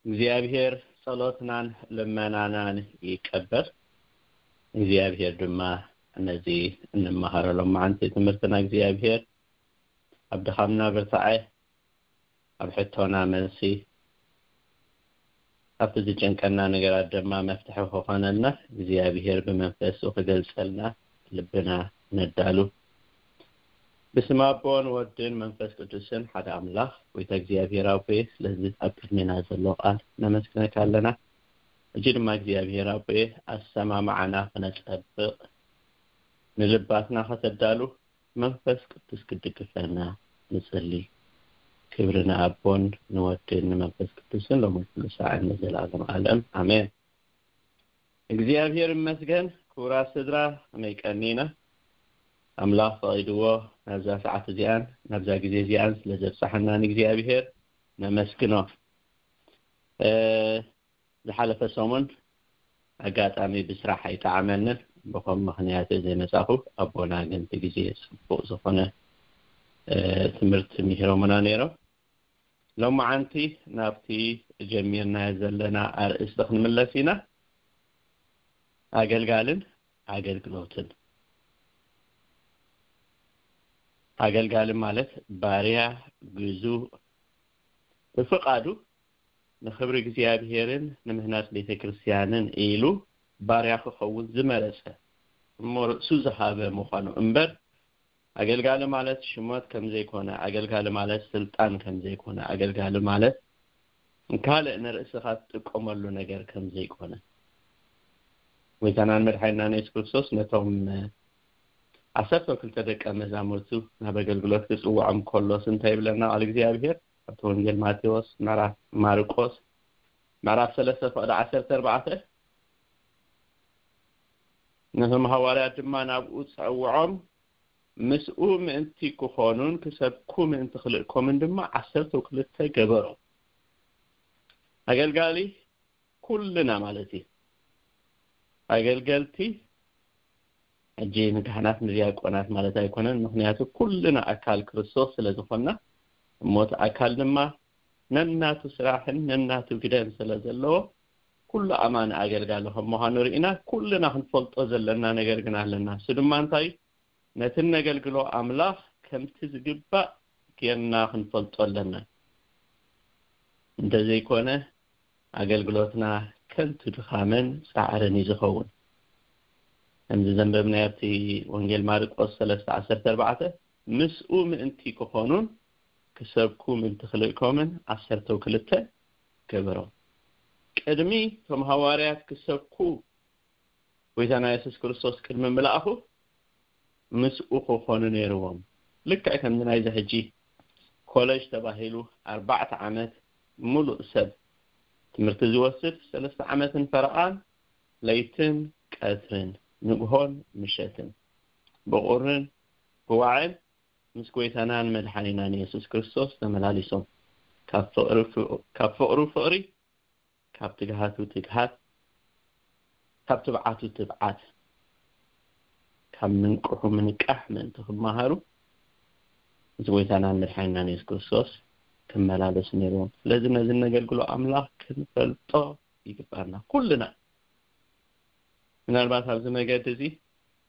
እግዚኣብሔር ጸሎትናን ልመናናን ይቀበል። እግዚኣብሔር ድማ ነዚ እንመሃረሎም መዓንቲ ትምህርትና እግዚኣብሔር ኣብ ድኻምና ብርታዐ፣ ኣብ ሕቶና መልሲ፣ ኣብቲ ዝጨንቀና ነገራት ድማ መፍትሒ ክኾነልና እግዚኣብሔር ብመንፈሱ ክገልጸልና ልብና ነዳሉ። ብስም ኣቦን ወድን መንፈስ ቅዱስን ሓደ ኣምላኽ፣ ጎይታ እግዚኣብሔር ኣቦየ፣ ስለዚ ኣብ ቅድሜና ዘሎ ቃል ነመስግነካ ኣለና። ሕጂ ድማ እግዚኣብሔር ኣቦየ፣ ኣሰማምዓና ክነጸብቕ፣ ንልባትና ከተዳሉ፣ መንፈስ ቅዱስ ክድግፈና ንጽሊ። ክብሪ ንኣቦን ንወድን ንመንፈስ ቅዱስን ሎሚ ኩሉ ሳዕን ንዘለኣለም ዓለም። ኣሜን። እግዚኣብሔር ይመስገን። ክቡራት ስድራ፣ ከመይ ቀኒና? ኣምላኽ ፈቒድዎ ናብዛ ሰዓት እዚኣን ናብዛ ግዜ እዚኣን ስለ ዘብጽሓና ንእግዚኣብሔር ነመስግኖ። እ፣ ዝሓለፈ ሰሙን ኣጋጣሚ ብስራሕ ኣይጠዓመንን፣ ብኸም ምኽንያት ዘይመጻኹ። ኣቦና ግን እቲ ግዜ ጽቡቕ ዝኾነ፣ እ፣ ትምህርቲ ምሂሮምና ነይሮም። ሎማዓንቲ ናብቲ ጀሚርናዮ ዘለና ኣርእስቲ ክንምለስ ኢና። ኣገልጋልን ኣገልግሎትን። ኣገልጋሊ ማለት ባርያ፣ ግዙእ፣ ብፍቓዱ ንኽብሪ እግዚኣብሔርን ንምህናጽ ቤተ ክርስቲያንን ኢሉ ባርያ ክኸውን ዝመረጸ እሞ ርእሱ ዝሃበ ምዃኑ እምበር፣ ኣገልጋሊ ማለት ሽሞት ከም ዘይኮነ፣ ኣገልጋሊ ማለት ስልጣን ከም ዘይኮነ፣ ኣገልጋሊ ማለት ካልእ ንርእስኻ ትጥቀመሉ ነገር ከም ዘይኮነ፣ ጎይታናን መድሓኒናን የሱስ ክርስቶስ ነቶም ዓሰርተ ክልተ ደቀ መዛሙርቱ ናብ ኣገልግሎት ክጽውዖም ከሎስ እንታይ ይብለና ቃል እግዚኣብሔር? ኣብቲ ወንጌል ማቴዎስ ምዕራፍ፣ ማርቆስ ምዕራፍ ሰለስተ ፍቕዲ ዓሰርተ ኣርባዕተ፣ ነቶም ሃዋርያት ድማ ናብኡ ጸውዖም፣ ምስኡ ምእንቲ ክኾኑን ክሰብኩ ምእንቲ ክልእኮምን ድማ ዓሰርተ ክልተ ገበሮም። ኣገልጋሊ ኩልና ማለት እዩ። ኣገልገልቲ ሕጂ ንካህናት ንዲያቆናት ማለት ኣይኮነን፣ ምኽንያቱ ኩልና ኣካል ክርስቶስ ስለ ዝኾንና፣ እሞ እቲ ኣካል ድማ ነናቱ ስራሕን ነናቱ ግደን ስለ ዘለዎ፣ ኩሉ ኣማኒ ኣገልጋሊ ከም ምዃኑ ርኢና፣ ኩልና ክንፈልጦ ዘለና ነገር ግን ኣለና። እሱ ድማ እንታይ? ነቲ ነገልግሎ ኣምላኽ ከምቲ ዝግባእ ጌርና ክንፈልጦ ኣለና። እንተዘይኮነ፣ ኣገልግሎትና ከንቱ ድኻምን ጻዕርን እዩ ዝኸውን። ከምዚ ዘንበብናዮ ኣብቲ ወንጌል ማርቆስ ሰለስተ ዓሰርተ ኣርባዕተ፣ ምስኡ ምእንቲ ክኾኑን ክሰብኩ ምእንቲ ክልእኮምን ዓሰርተው ክልተ ገበሮም። ቅድሚ እቶም ሃዋርያት ክሰብኩ ጎይታና የሱስ ክርስቶስ ቅድሚ ምልኣኹ ምስኡ ክኾኑ ነይርዎም። ልክዕ ከምዚ ናይዚ ሕጂ ኮለጅ ተባሂሉ ኣርባዕተ ዓመት ሙሉእ ሰብ ትምህርቲ ዝወስድ፣ ሰለስተ ዓመትን ፈረቓን፣ ለይትን ቀትርን፣ ንግሆን ምሸትን፣ ብቑርን ብዋዕን ምስ ጎይታናን መድሓኒናን የሱስ ክርስቶስ ተመላሊሶም፣ ካብ ፍቕሪ ፍ-፣ ካብ ፍቕሩ ፍቕሪ፣ ካብ ትግሃቱ ትግሃት፣ ካብ ትብዓቱ ትብዓት፣ ካብ ምንቅሑ ምንቃሕ ምእንቲ ክመሃሩ፣ ምስ ጎይታናን መድሓኒናን የሱስ ክርስቶስ ክመላለሱ ነይርዎም። ስለዚ ነዚ ነገልግሎ ኣምላኽ ክንፈልጦ ይግባና ኩልና። ምናልባት ኣብዚ መገዲ እዚ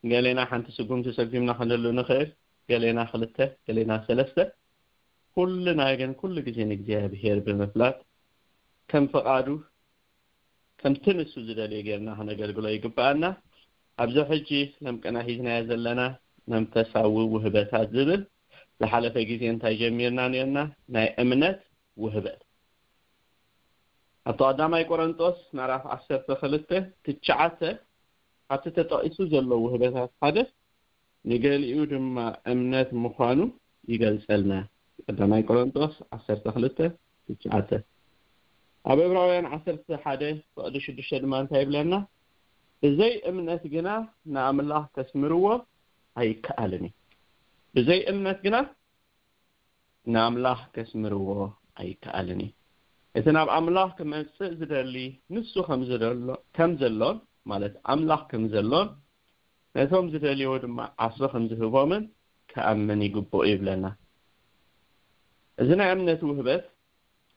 ገሌና ሓንቲ ስጉምቲ ሰጉምና ክንህሉ ንኽእል፣ ገሌና ክልተ፣ ገሌና ሰለስተ። ኩልና ግን ኩሉ ግዜ ንእግዚኣብሔር ብምፍላጥ ከም ፍቓዱ፣ ከምቲ ንሱ ዝደልዮ ጌርና ክነገልግሎ ይግብኣና። ኣብዚ ሕጂ ለም ቅነ ሒዝናዮ ዘለና መንፈሳዊ ውህበታት ዝብል ዝሓለፈ ግዜ እንታይ ጀሚርና ነርና? ናይ እምነት ውህበት። ኣብቲ ቀዳማይ ቆሮንጦስ ምዕራፍ ዓሰርተ ክልተ ትሽዓተ ኣብቲ ተጠቒሱ ዘሎ ውህበታት ሓደ ንገሊኡ ድማ እምነት ምዃኑ ይገልጸልና። ቀዳማይ ቆሮንጦስ ዓሰርተ ክልተ ትሽዓተ። ኣብ ዕብራውያን ዓሰርተ ሓደ ፍቕዲ ሽዱሽተ ድማ እንታይ ይብለና? ብዘይ እምነት ግና ንኣምላኽ ከስምርዎ ኣይከኣልን እዩ። ብዘይ እምነት ግና ንኣምላኽ ከስምርዎ ኣይከኣልን እዩ። እቲ ናብ ኣምላኽ ክመጽእ ዝደሊ ንሱ ከም ዝደሎ-፣ ከም ዘሎን፣ ማለት ኣምላኽ ከም ዘሎን፣ ነቶም ዝደልይዎ ድማ ዓስቢ ከም ዝህቦምን ክኣምን ይግብኦ ይብለና። እዚ ናይ እምነት ውህበት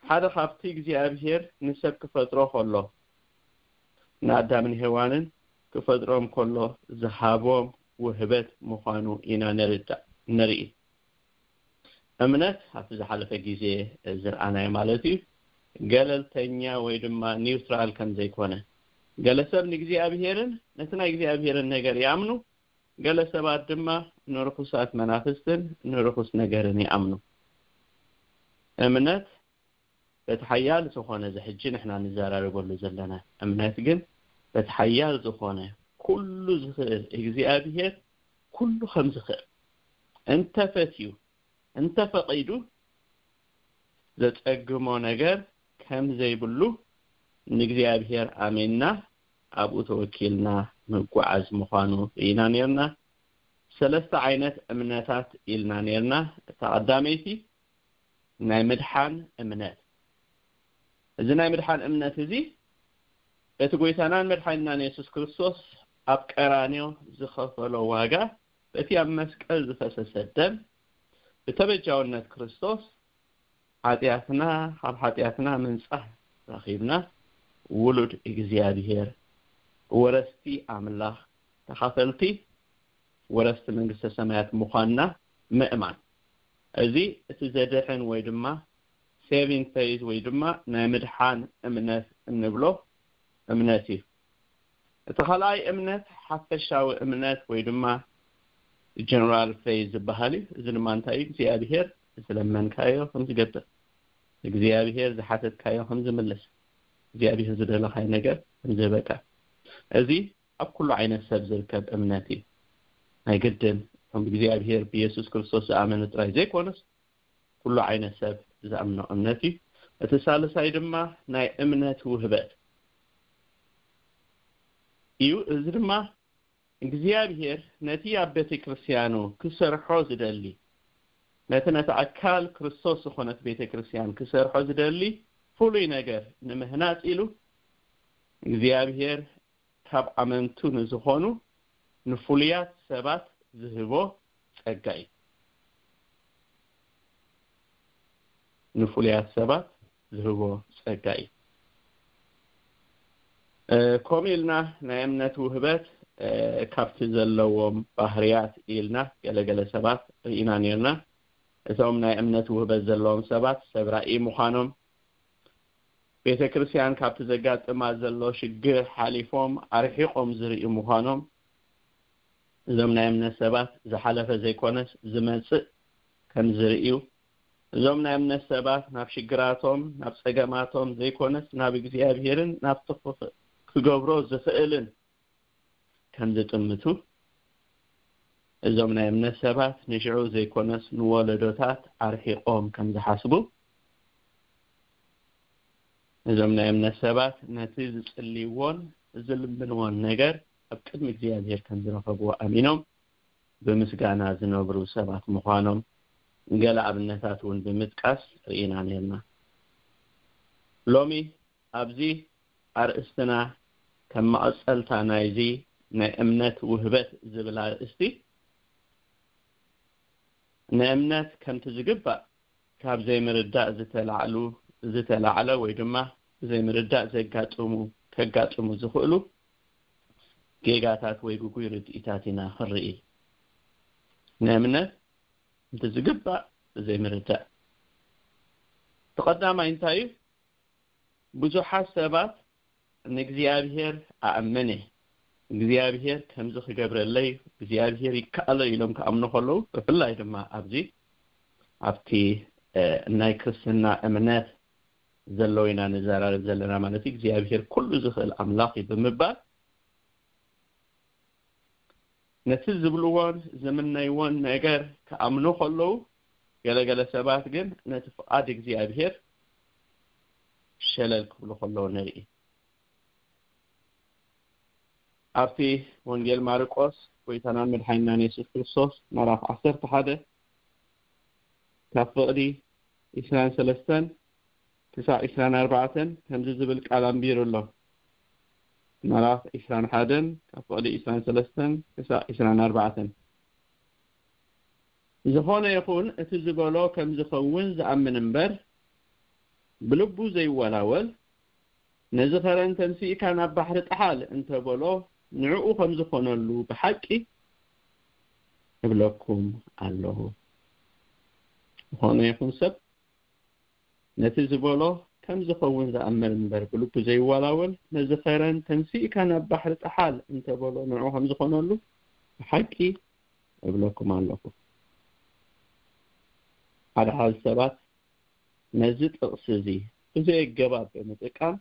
ሓደ ካብቲ እግዚኣብሔር ንሰብ ክፈጥሮ ከሎ፣ ንኣዳምን ሄዋንን ክፈጥሮም ከሎ ዝሃቦም ውህበት ምዃኑ ኢና ንርዳእ፣ ንርኢ። እምነት ኣብቲ ዝሓለፈ ግዜ ዝረኣናዮ ማለት እዩ፣ ገለልተኛ ወይ ድማ ኒውትራል ከም ዘይኮነ፣ ገለ ሰብ ንእግዚኣብሔርን ነቲ ናይ እግዚኣብሔርን ነገር ይኣምኑ፣ ገለ ሰባት ድማ ንርኹሳት መናፍስትን ንርኹስ ነገርን ይኣምኑ። እምነት በቲ ሓያል ዝኾነ፣ እዚ ሕጂ ንሕና ንዘራረበሉ ዘለና እምነት ግን በቲ ሓያል ዝኾነ፣ ኩሉ ዝኽእል እግዚኣብሔር፣ ኩሉ ከም ዝኽእል፣ እንተፈትዩ፣ እንተፈቒዱ፣ ዘጸግሞ ነገር ከም ዘይብሉ ንእግዚኣብሔር ኣሜንና ኣብኡ ተወኪልና ምጓዓዝ ምዃኑ ርኢና ኔርና። ሰለስተ ዓይነት እምነታት ኢልና ኔርና። እታ ቀዳመይቲ ናይ ምድሓን እምነት። እዚ ናይ ምድሓን እምነት እዚ በቲ ጎይታናን መድሓኒናን የሱስ ክርስቶስ ኣብ ቀራንዮ ዝኸፈሎ ዋጋ፣ በቲ ኣብ መስቀል ዝፈሰሰ ደም፣ ብተበጃውነት ክርስቶስ ሓጢኣትና፣ ካብ ሓጢኣትና ምንጻህ ረኺብና፣ ውሉድ እግዚኣብሔር፣ ወረስቲ ኣምላኽ፣ ተኻፈልቲ ወረስቲ መንግስተ ሰማያት ምዃንና ምእማን። እዚ እቲ ዘድሕን ወይ ድማ ሴቪንግ ፌዝ ወይ ድማ ናይ ምድሓን እምነት እንብሎ እምነት እዩ። እቲ ካልኣይ እምነት ሓፈሻዊ እምነት ወይ ድማ ጀነራል ፌዝ ዝበሃል እዩ። እዚ ድማ እንታይ እዩ? እግዚኣብሔር ዝለመንካዮ ከም ዝገብር፣ እግዚኣብሔር ዝሓተትካዮ ከም ዝምልስ፣ እግዚኣብሔር ዝደለኻዮ ነገር ከም ዝህበካ። እዚ ኣብ ኩሉ ዓይነት ሰብ ዝርከብ እምነት እዩ። ናይ ግድን እቶም ብእግዚኣብሔር ብየሱስ ክርስቶስ ዝኣመኑ ጥራይ ዘይኮነስ፣ ኩሉ ዓይነት ሰብ ዝኣምኖ እምነት እዩ። እቲ ሳልሳይ ድማ ናይ እምነት ውህበት እዩ። እዚ ድማ እግዚኣብሔር ነቲ ኣብ ቤተ ክርስቲያኑ ክሰርሖ ዝደሊ፣ ነቲ ነቲ ኣካል ክርስቶስ ዝኾነት ቤተ ክርስቲያን ክሰርሖ ዝደሊ ፍሉይ ነገር ንምህናጽ ኢሉ፣ እግዚኣብሔር ካብ ኣመንቱ ንዝኾኑ ንፍሉያት ሰባት ዝህቦ ጸጋ እዩ። ንፍሉያት ሰባት ዝህቦ ጸጋ እዩ። እ፣ ከምኡ ኢልና ናይ እምነት ውህበት፣ እ፣ ካብቲ ዘለዎም ባህርያት ኢልና ገለገለ ሰባት ርኢና ኔርና። እቶም ናይ እምነት ውህበት ዘለዎም ሰባት ሰብ ራእይ ምዃኖም፣ ቤተ ክርስቲያን ካብቲ ዘጋጥማ ዘሎ ሽግር ሓሊፎም ኣርሒቖም ዝርእዩ ምዃኖም፣ እዞም ናይ እምነት ሰባት ዝሓለፈ ዘይኮነስ ዝመጽእ ከም ዝርእዩ፣ እዞም ናይ እምነት ሰባት ናብ ሽግራቶም፣ ናብ ጸገማቶም ዘይኮነስ ናብ እግዚኣብሔርን ናብ ትኽ-፣ ክገብሮ ዝኽእልን ከም ዝጥምቱ፣ እዞም ናይ እምነት ሰባት ንሽዑ ዘይኮነስ ንወለዶታት ኣርሒቖም ከም ዝሓስቡ፣ እዞም ናይ እምነት ሰባት ነቲ ዝጽልይዎን ዝልምንዎን ነገር ኣብ ቅድሚ እግዚኣብሔር ከም ዝረኸብዎ ኣሚኖም ብምስጋና ዝነብሩ ሰባት ምዃኖም ገለ ኣብነታት እውን ብምጥቃስ ርኢና ኔርና። ሎሚ ኣብዚ ኣርእስትና ከም መቐጸልታ ናይዚ ናይ እምነት ውህበት ዝብል ኣርእስቲ፣ ንእምነት ከምቲ ዝግባእ ካብ ዘይምርዳእ ዝተላዕሉ፣ ዝተላዕለ ወይ ድማ ብዘይምርዳእ ዘጋጥሙ፣ ከጋጥሙ ዝኽእሉ ጌጋታት ወይ ግጉይ ርድኢታት ኢና ክንርኢ። ንእምነት ከምቲ ዝግባእ ብዘይምርዳእ። እቲ ቀዳማይ እንታይ እዩ? ብዙሓት ሰባት ንእግዚኣብሔር ኣእምን እየ፣ እግዚኣብሔር ከምዚ ክገብረለይ፣ እግዚኣብሔር ይከኣሎ ኢሎም ክኣምኑ ከለዉ፣ ብፍላይ ድማ ኣብዚ ኣብቲ፣ እ፣ ናይ ክርስትና እምነት ዘለዉ ኢና ንዘራረብ ዘለና ማለት እዩ። እግዚኣብሔር ኩሉ ዝኽእል ኣምላኽ እዩ ብምባል ነቲ ዝብልዎን ዝምነይዎን ነገር ክኣምኑ ከለዉ፣ ገለገለ ሰባት ግን ነቲ ፍቓድ እግዚኣብሔር ሸለል ክብሉ ከለዉ ንርኢ። ኣብቲ ወንጌል ማርቆስ ጎይታናን መድሓኒናን የሱስ ክርስቶስ ምዕራፍ ዓሰርተ ሓደ ካብ ፍቕዲ ዒስራን ሰለስተን ክሳዕ ዒስራን ኣርባዕተን ከምዚ ዝብል ቃል ኣንቢሩ ኣሎ። ምዕራፍ ዒስራን ሓደን ካብ ፍቕዲ ዒስራን ሰለስተን ክሳዕ ዒስራን ኣርባዕተን። ዝኾነ ይኹን እቲ ዝበሎ ከም ዝኸውን ዝኣምን እምበር፣ ብልቡ ዘይወላወል፣ ነዚ ኸረን ተንሲእካ ናብ ባሕሪ ጥሓል እንተበሎ፣ ንዕኡ ከም ዝኾነሉ ብሓቂ እብለኩም ኣለኹ። ዝኾነ ይኹን ሰብ ነቲ ዝበሎ ከም ዝኸውን ዝኣምን እምበር፣ ብልቡ ዘይወላወል፣ ነዚ ኸረን ተንሲእካ ናብ ባሕሪ ጥሓል እንተበሎ፣ ንዕኡ ከም ዝኾነሉ ብሓቂ እብለኩም ኣለኹ። ሓደ ሓደ ሰባት ነዚ ጥቕሲ እዚ ብዘየገባብ ብምጥቃም፣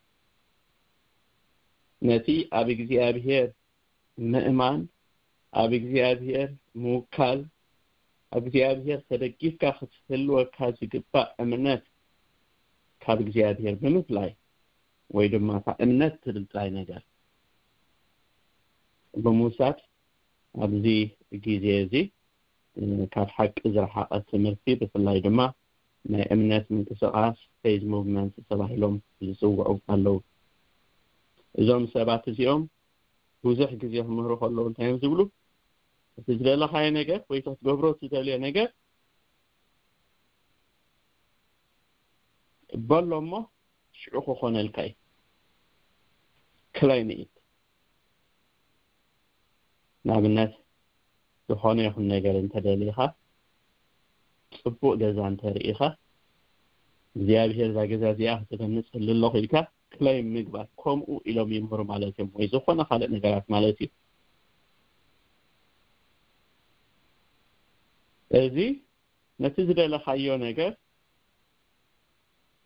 ነቲ ኣብ እግዚኣብሔር ምእማን፣ ኣብ እግዚኣብሔር ምውካል፣ ኣብ እግዚኣብሔር ተደጊፍካ ክትህልወካ ዝግባእ እምነት ካብ እግዚኣብሔር ብምፍላይ፣ ወይ ድማ እታ እምነት ትብል ጥራይ ነገር ብምውሳድ፣ ኣብዚ ግዜ እዚ፣ እ፣ ካብ ሓቂ ዝረሓቐ ትምህርቲ፣ ብፍላይ ድማ ናይ እምነት ምንቅስቓስ፣ ፌዝ ሙቭመንት ተባሂሎም ዝጽውዑ ኣለዉ። እዞም ሰባት እዚኦም ብዙሕ ግዜ ክምህሩ ከለዉ እንታይ እዮም ዝብሉ? እቲ ዝደለኻዮ ነገር ወይ እቲ ክትገብሮ እትደልዮ ነገር በሎ እሞ ሽዑ ክኾነልካ እዩ። ክላይም ኢት። ንኣብነት፣ ዝኾነ ይኹን ነገር እንተደሊኻ፣ ጽቡቕ ገዛ እንተርኢኻ፣ እግዚኣብሔር እዛ ገዛ እዚኣ ክትበንጸሉ ኣለኹ ኢልካ ክላይም ምግባር፣ ከምኡ ኢሎም ይምህሩ ማለት እዮም፣ ወይ ዝኾነ ካልእ ነገራት ማለት እዩ። እዚ ነቲ ዝደለኻዮ ነገር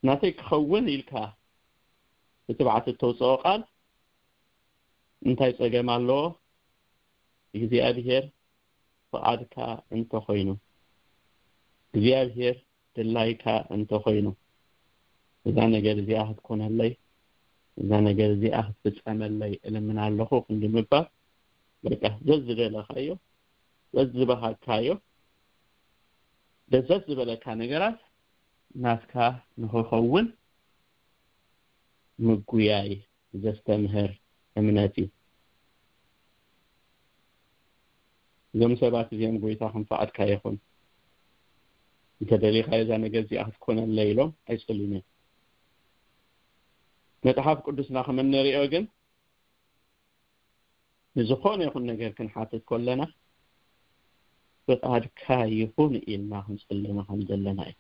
ናተይ ክኸውን ኢልካ ብትብዓት እተውፅኦ ቃል እንታይ ጸገም ኣለዎ? እግዚኣብሔር ፍቓድካ እንተኾይኑ፣ እግዚኣብሔር ድላይካ እንተኾይኑ፣ እዛ ነገር እዚኣ ክትኮነለይ፣ እዛ ነገር እዚኣ ክትፍጸመለይ እልምን ኣለኹ ክንዲ ምባል፣ በቃ ዘዝደለኻዮ፣ ዘዝበሃግካዮ፣ ደስ ዝበለካ ነገራት ናትካ ንኽኸውን ምጉያይ ዘስተምህር እምነት እዩ። እዞም ሰባት እዚኦም ጎይታ ከም ፍቓድካ ይኹን፣ እንተደሊኻዮ እዛ ነገር እዚኣ ክትኮነለይ ኢሎም ኣይጸልዩን እዮም። መጽሓፍ ቅዱስና ከም እንሪኦ ግን ንዝኾነ ይኹን ነገር ክንሓትት ከለና ፍቓድካ ይኹን ኢልና ክንጽልማ ከም ዘለና እዩ።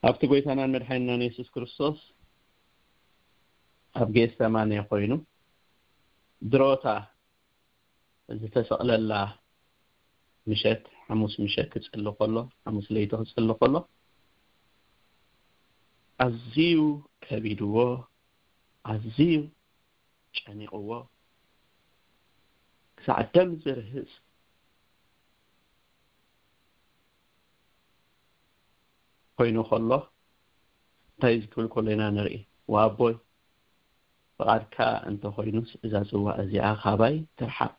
ኣብቲ ጎይታናን መድሓኒናን የሱስ ክርስቶስ ኣብ ጌሰማኔ ኮይኑ ድሮታ ዝተሰቕለላ ምሸት፣ ሓሙስ ምሸት ክጽሊ ከሎ፣ ሓሙስ ለይቲ ክጽሊ ከሎ ኣዝዩ ከቢድዎ፣ ኣዝዩ ጨኒቕዎ፣ ክሳዕ ደም ዝርህጽ ኮይኑ ከሎ እንታይ እዩ ክብል ከሎ ኢና ንርኢ? ወኣቦይ፣ ፍቓድካ እንተኾይኑስ እዛ ጽዋእ እዚኣ ካባይ ትርሓቕ፣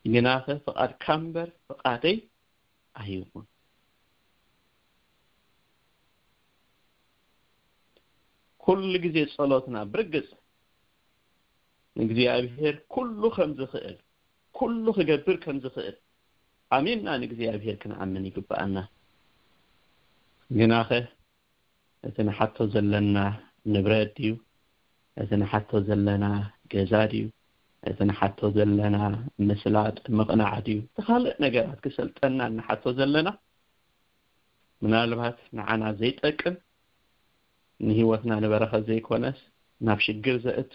ግናኸ ፍቓድካ እምበር ፍቓደይ ኣይኹን። ኩሉ ግዜ ጸሎትና ብርግጽ ንእግዚኣብሔር ኩሉ ከም ዝኽእል፣ ኩሉ ክገብር ከም ዝኽእል ኣሚንና ንእግዚኣብሔር ክንኣምን ይግብኣና። ግናኸ እቲ ንሓቶ ዘለና ንብረት ድዩ? እቲ ንሓቶ ዘለና ገዛ ድዩ? እቲ ንሓቶ ዘለና ምስላጥ ምቕናዕ ድዩ? እቲ ካልእ ነገራት ክሰልጠና ንሓቶ ዘለና ምናልባት ንዓና ዘይጠቅም፣ ንህይወትና ንበረኸት ዘይኮነስ ናብ ሽግር ዘእቱ፣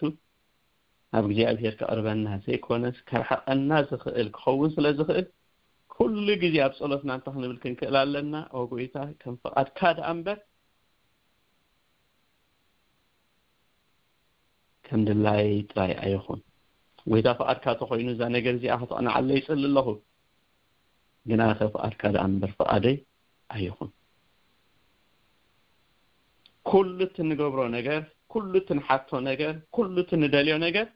ናብ እግዚኣብሔር ከቕርበና ዘይኮነስ ከርሕቐና ዝኽእል ክኸውን ስለ ዝኽእል፣ ኩሉ ግዜ ኣብ ጸሎትና እንታይ ክንብል ክንክእል ኣለና? ኦ ጎይታ፣ ከም ፍቓድካ ደኣ እምበር ከም ድላይ ጥራይ ኣይኹን። ጎይታ ፍቓድካ ተኾይኑ እዛ ነገር እዚኣ ከተቕንዓለይ ይጽሊ ኣለኹ። ግናኸ ፍቓድካ ደኣ እምበር ፍቓደይ ኣይኹን። ኩሉ እቲ ንገብሮ ነገር፣ ኩሉ እቲ ንሓቶ ነገር፣ ኩሉ እቲ ንደልዮ ነገር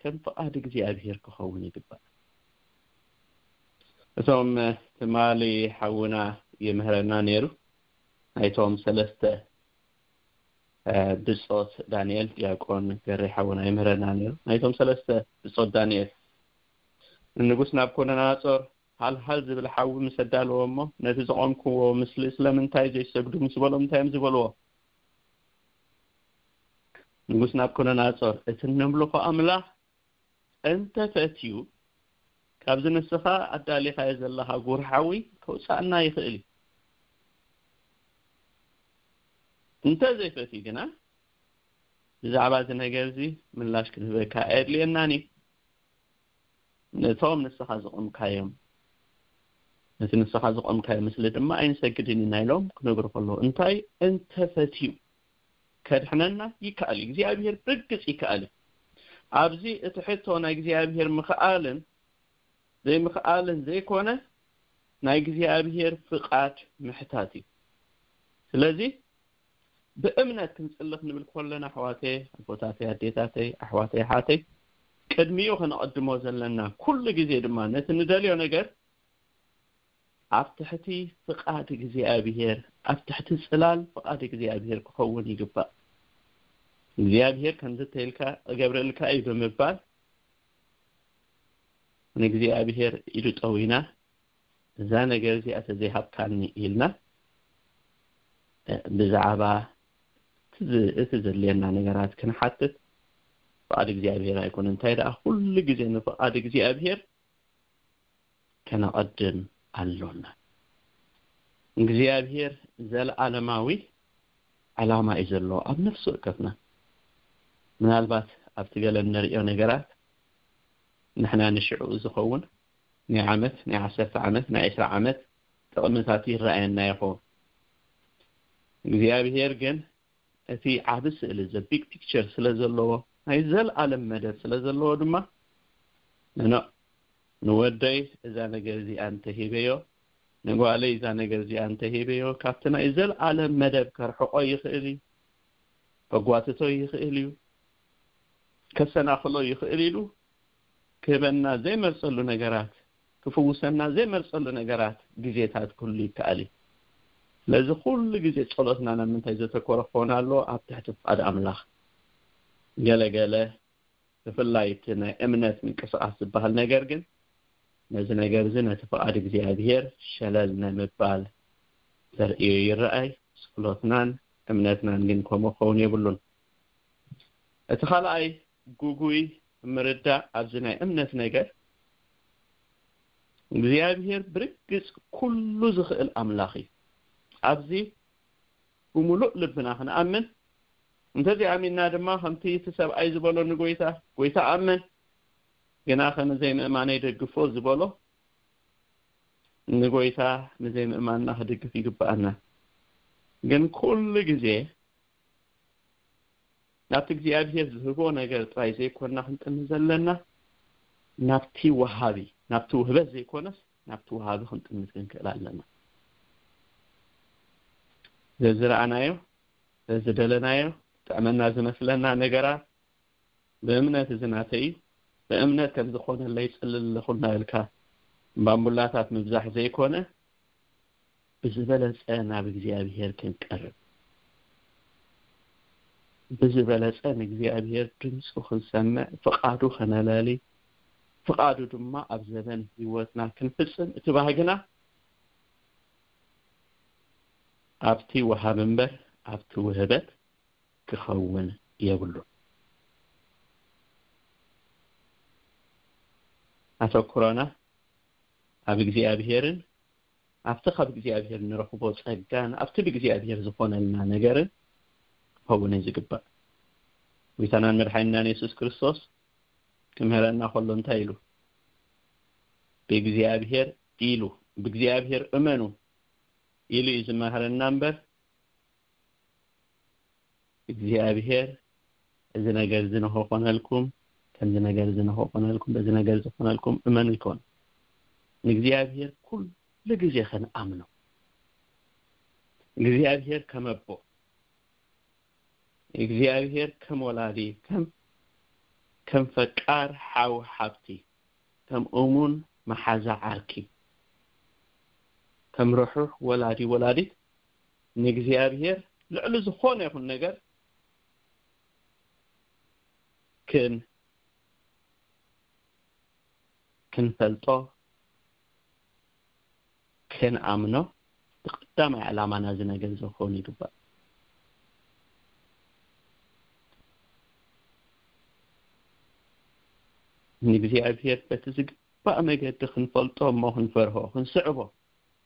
ከም ፍቓድ እግዚኣብሔር ክኸውን ይግባእ። እቶም ትማሊ ሓውና ይምህረና ነይሩ። ናይቶም ሰለስተ፣ እ፣ ብጾት ዳንኤል፣ ዲያቆን ገሬ ሓውና ይምህረና ነይሩ። ናይቶም ሰለስተ ብጾት ዳንኤል፣ ንንጉስ ናብኮደነጾር ሃልሃል ዝብል ሓዊ ምስ ኣዳለዎ እሞ፣ ነቲ ዘቖምክዎ ምስሊ ስለምንታይ ዘይሰግዱ ምስ በሎም፣ እንታይ እዮም ዝበልዎ? ንጉስ ናብኮደነጾር፣ እቲ እነምልኾ ኣምላኽ እንተፈትዩ፣ ካብዚ ንስኻ ኣዳሊኻዮ ዘለኻ ጉር ሓዊ ከውጽኣና ይኽእል እዩ። እንተ ዘይፈትዩ ግና፣ ብዛዕባ እዚ ነገር እዚ ምላሽ ክንህበካ ኣየድልየናን እዩ። ነቶም ንስኻ ዘቖምካዮም፣ ነቲ ንስኻ ዘቖምካዮ ምስሊ ድማ ኣይንሰግድን ኢና ኢሎም ክነግሩ ከለዉ፣ እንታይ እንተፈትዩ ከድሕነና ይከኣል እዩ። እግዚኣብሔር ብርግጽ ይከኣል እዩ። ኣብዚ እቲ ሕቶ ናይ እግዚኣብሔር ምኽኣልን ዘይምኽኣልን ዘይኮነ፣ ናይ እግዚኣብሔር ፍቓድ ምሕታት እዩ። ስለዚ ብእምነት ክንጽሊ ክንብል ከለና፣ ኣሕዋተይ፣ ኣቦታተይ፣ ኣዴታተይ፣ ኣሕዋተይ፣ ኣሓተይ፣ ቅድሚኡ ከነቐድሞ ዘለና፣ ኩሉ ግዜ ድማ ነቲ ንደልዮ ነገር ኣብ ትሕቲ ፍቓድ እግዚኣብሔር፣ ኣብ ትሕቲ ጽላል ፍቓድ እግዚኣብሔር ክኸውን ይግባእ። እግዚኣብሔር ከምዚ ተይልካ እገብረልካ እዩ ብምባል ንእግዚኣብሔር ኢዱ ጠዊና፣ እዛ ነገር እዚኣ ተዘይሃብካኒ ኢልና፣ እ፣ ብዛዕባ እቲ ዝ-፣ እቲ ዘድልየና ነገራት ክንሓትት ፍቓድ እግዚኣብሔር ኣይኮነን። እንታይ ደኣ፣ ኩሉ ግዜ ንፍቓድ እግዚኣብሔር ከነቐድም ኣሎና። እግዚኣብሔር ዘለዓለማዊ ዕላማ እዩ ዘለዎ ኣብ ነፍሲ ወከፍና። ምናልባት ኣብቲ ገለ እንርእዮ ነገራት ንሕና ንሽዑ ዝኸውን ናይ ዓመት፣ ናይ ዓሰርተ ዓመት፣ ናይ ዕስራ ዓመት ጥቕምታት ይረኣየና ይኸውን። እግዚኣብሔር ግን እቲ ዓቢ ስእሊ፣ the big picture ስለ ዘለዎ፣ ናይ ዘለዓለም መደብ ስለ ዘለዎ ድማ፣ ንኖ፣ ንወደይ እዛ ነገር እዚኣ እንተሂበዮ፣ ንጓለይ እዛ ነገር እዚኣ እንተሂበዮ፣ ካብቲ ናይ ዘለዓለም መደብ ከርሕቆ ይኽእል እዩ፣ ከጓትቶ ይኽእል እዩ፣ ከሰናኽሎ ይኽእል ኢሉ ክህበና ዘይመርጸሉ ነገራት፣ ክፍውሰና ዘይመርጸሉ ነገራት ግዜታት ክህሉ ይከኣል እዩ። ስለዚ ኩሉ ግዜ ጸሎትና ናብ ምንታይ ዘተኮረ ክኸውን ኣለዎ? ኣብ ትሕቲ ፍቓድ ኣምላኽ። ገለ ገለ ብፍላይ እቲ ናይ እምነት ምንቅስቓስ ዝበሃል ነገር ግን ነዚ ነገር እዚ ነቲ ፍቓድ እግዚኣብሔር ሸለል ናይ ምባል ተርእዮ ይረኣይ። ጸሎትናን እምነትናን ግን ከምኡ ክኸውን የብሉን። እቲ ካልኣይ ግጉይ ምርዳእ ኣብዚ ናይ እምነት ነገር፣ እግዚኣብሔር ብርግጽ ኩሉ ዝኽእል ኣምላኽ እዩ። ኣብዚ ብምሉእ ልብና ክንኣምን፣ እንተዘይኣሚንና ድማ ከምቲ እቲ ሰብኣይ ዝበሎ ንጎይታ፣ "ጎይታ ኣምን፣ ግናኸ ንዘይምእማነይ ደግፎ" ዝበሎ፣ ንጎይታ ንዘይምእማንና ክድግፍ ይግብኣና። ግን ኩሉ ግዜ ናብቲ እግዚኣብሔር ዝህቦ ነገር ጥራይ ዘይኮንና ክንጥምት ዘለና፣ ናብቲ ወሃቢ፣ ናብቲ ውህበት ዘይኮነስ ናብቲ ወሃቢ ክንጥምት ክንክእል ኣለና። ዘዝረኣናዮ፣ ዘዝደለናዮ፣ ጥዕመና ዝመስለና ነገራት ብእምነት እዚ ናተይ እዩ፣ ብእምነት ከም ዝኾነለይ ይጽሊ ኣለኹ እናበልካ ባምቡላታት ምብዛሕ ዘይኮነ፣ ብዝበለጸ ናብ እግዚኣብሔር ክንቀርብ፣ ብዝበለጸ ንእግዚኣብሔር ድምፁ ክንሰምዕ፣ ፍቓዱ ከነላሊ፣ ፍቓዱ ድማ ኣብ ዘበን ህይወትና ክንፍጽም፣ እቲ ባህግና ኣብቲ ወሃቢ እምበር ኣብቲ ውህበት ክኸውን የብሉን። ኣተኩሮና ኣብ እግዚኣብሔርን ኣብቲ ካብ እግዚኣብሔር ንረኽቦ ጸጋን ኣብቲ ብእግዚኣብሔር ዝኾነልና ነገርን ክኸውን እዩ ዝግባእ። ጎይታናን መድሓኒናን የሱስ ክርስቶስ ክምህረና ከሎ እንታይ ኢሉ? "ብእግዚኣብሔር" ኢሉ፣ "ብእግዚኣብሔር እመኑ" ኢሉ እዩ ዝመሃረና እምበር፣ እግዚኣብሔር "እዚ ነገር እዚ ንኽኾነልኩም፣ ከምዚ ነገር እዚ ንኽኾነልኩም፣ በዚ ነገር እዚ ክኾነልኩም እመኑ" ይኮን። ንእግዚኣብሔር ኩሉ ግዜ ክንኣምኖ፣ እግዚኣብሔር ከም ኣቦ፣ እግዚኣብሔር ከም ወላዲ፣ ከም፣ ከም ፈቃር ሓው ሓብቲ፣ ከም እሙን መሓዛ ዓርኪ፣ ከም ርሑሕ ወላዲ ወላዲት ንእግዚኣብሔር ልዕሊ ዝኾነ ይኹን ነገር ክን-፣ ክንፈልጦ፣ ክንኣምኖ፣ እቲ ቀዳማይ ዕላማና እዚ ነገር እዚ ክኸውን ይግባእ። ንእግዚኣብሔር በቲ ዝግባእ መገዲ ክንፈልጦ እሞ ክንፈርሆ፣ ክንስዕቦ፣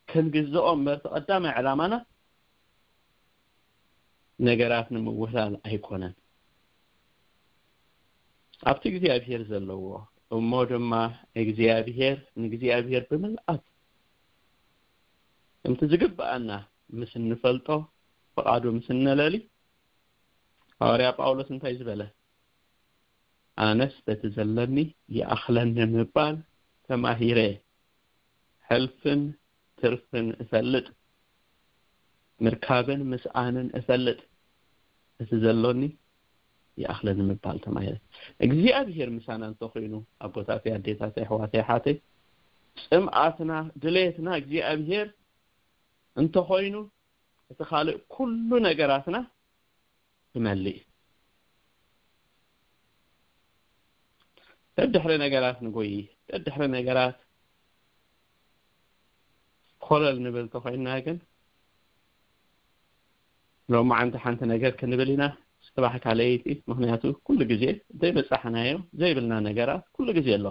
ክንግዝኦ እምበር፣ እቲ ቀዳማይ ዕላማና ነገራት ንምውህላል ኣይኮነን። ኣብቲ እግዚኣብሔር ዘለዎ እሞ ድማ እግዚኣብሔር፣ ንእግዚኣብሔር ብምልኣት ከምቲ ዝግብኣና ምስ እንፈልጦ፣ ፍቓዱ ምስ እነለሊ፣ ሃዋርያ ጳውሎስ እንታይ ዝበለ? ኣነስ በቲ ዘለኒ ይኣኽለኒ ምባል ተማሂረ፣ ሕልፍን ትርፍን እፈልጥ፣ ምርካብን ምስኣንን እፈልጥ፣ እቲ ዘሎኒ ይኣኽለኒ ምባል ተማሂረ። እግዚኣብሔር ምሳና እንተኾይኑ፣ ኣቦታተይ፣ ኣዴታተይ፣ ኣሕዋተይ፣ ሓተይ፣ ጽምኣትና፣ ድሌትና እግዚኣብሔር እንተኾይኑ፣ እቲ ካልእ ኩሉ ነገራትና ክመልእ እዩ። ደድሕሪ ነገራት ንጎይ፣ ደድሕሪ ነገራት ኮለል ንብል ተኾይንና ግን፣ ሎማዓንቲ ሓንቲ ነገር ክንብል ኢና፣ ጽባሕ ካልኣይቲ። ምኽንያቱ ኩሉ ግዜ ዘይበጻሕናዮ ዘይብልና ነገራት ኩሉ ግዜ ኣሎ።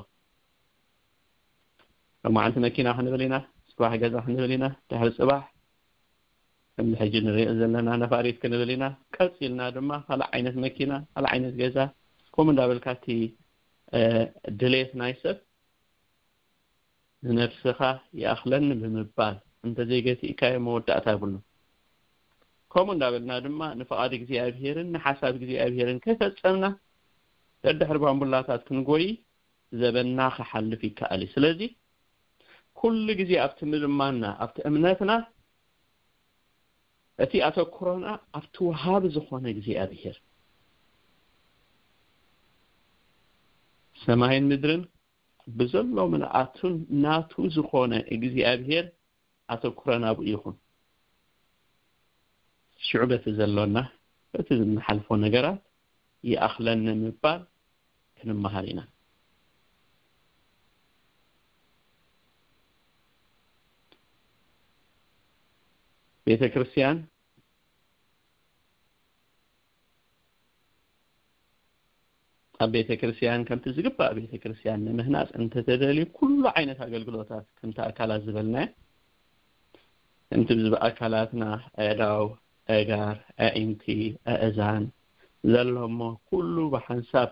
ሎማዓንቲ መኪና ክንብል ኢና፣ ጽባሕ ገዛ ክንብል ኢና፣ ድሕሪ ጽባሕ ከምዚ ሕጂ ንሪኦ ዘለና ነፋሪት ክንብል ኢና። ቀጺልና ድማ ካልእ ዓይነት መኪና፣ ካልእ ዓይነት ገዛ፣ ከምኡ እንዳበልካ እቲ፣ እ፣ ድሌት ናይ ሰብ ንነፍስኻ ይኣኽለኒ ብምባል እንተዘይገቲእካዮ መወዳእታ የብሉን። ከምኡ እንዳበልና ድማ ንፍቓድ እግዚኣብሄርን ንሓሳብ እግዚኣብሄርን ከይፈጸምና ደድሕሪ ባምቡላታት ክንጎይ ዘበንና ክሓልፍ ይከኣል እዩ። ስለዚ ኩሉ ግዜ ኣብቲ ምልማና፣ ኣብቲ እምነትና፣ እቲ ኣተኩሮና ኣብቲ ወሃቢ ዝኾነ እግዚኣብሄር፣ ሰማይን ምድርን ብዘሎ ምልኣቱን ናቱ ዝኾነ እግዚኣብሄር ኣተኩሮና ኣብኡ ይኹን። ሽዑ በቲ ዘሎና፣ በቲ እንሓልፎ ነገራት ይኣኽለኒ ምባል ክንመሃር ኢና። ቤተ ክርስቲያን፣ ኣብ ቤተ ክርስቲያን ከምቲ ዝግባእ ቤተ ክርስቲያን ንምህናጽ እንተተደልዩ፣ ኩሉ ዓይነት ኣገልግሎታት ከምቲ ኣካላት ዝበልናዮ፣ ከምቲ ብዝበ ኣካላትና፣ ኣእዳው፣ ኣእጋር፣ ኣዒንቲ፣ ኣእዛን ዘሎ እሞ፣ ኩሉ ብሓንሳብ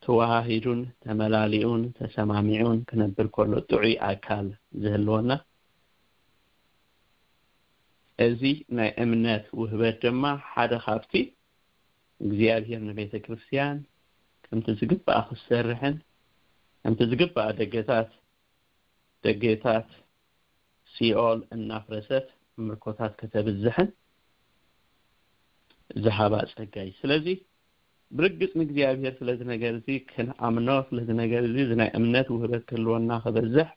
ተዋሃሂዱን ተመላሊኡን ተሰማሚዑን ክነብር ከሎ ጥዑይ ኣካል ዝህልወና። እዚ ናይ እምነት ውህበት ድማ ሓደ ካብቲ እግዚኣብሔር ንቤተ ክርስቲያን ከምቲ ዝግባእ ክትሰርሕን ከምቲ ዝግባእ ደገታት፣ ደገታት ሲኦል እናፍረሰት ምርኮታት ከተብዝሕን ዝሃባ ጸጋ እዩ። ስለዚ ብርግጽ ንእግዚኣብሔር ስለዚ ነገር እዚ ክንኣምኖ፣ ስለዚ ነገር እዚ፣ እዚ ናይ እምነት ውህበት ክህልወና፣ ክበዝሕ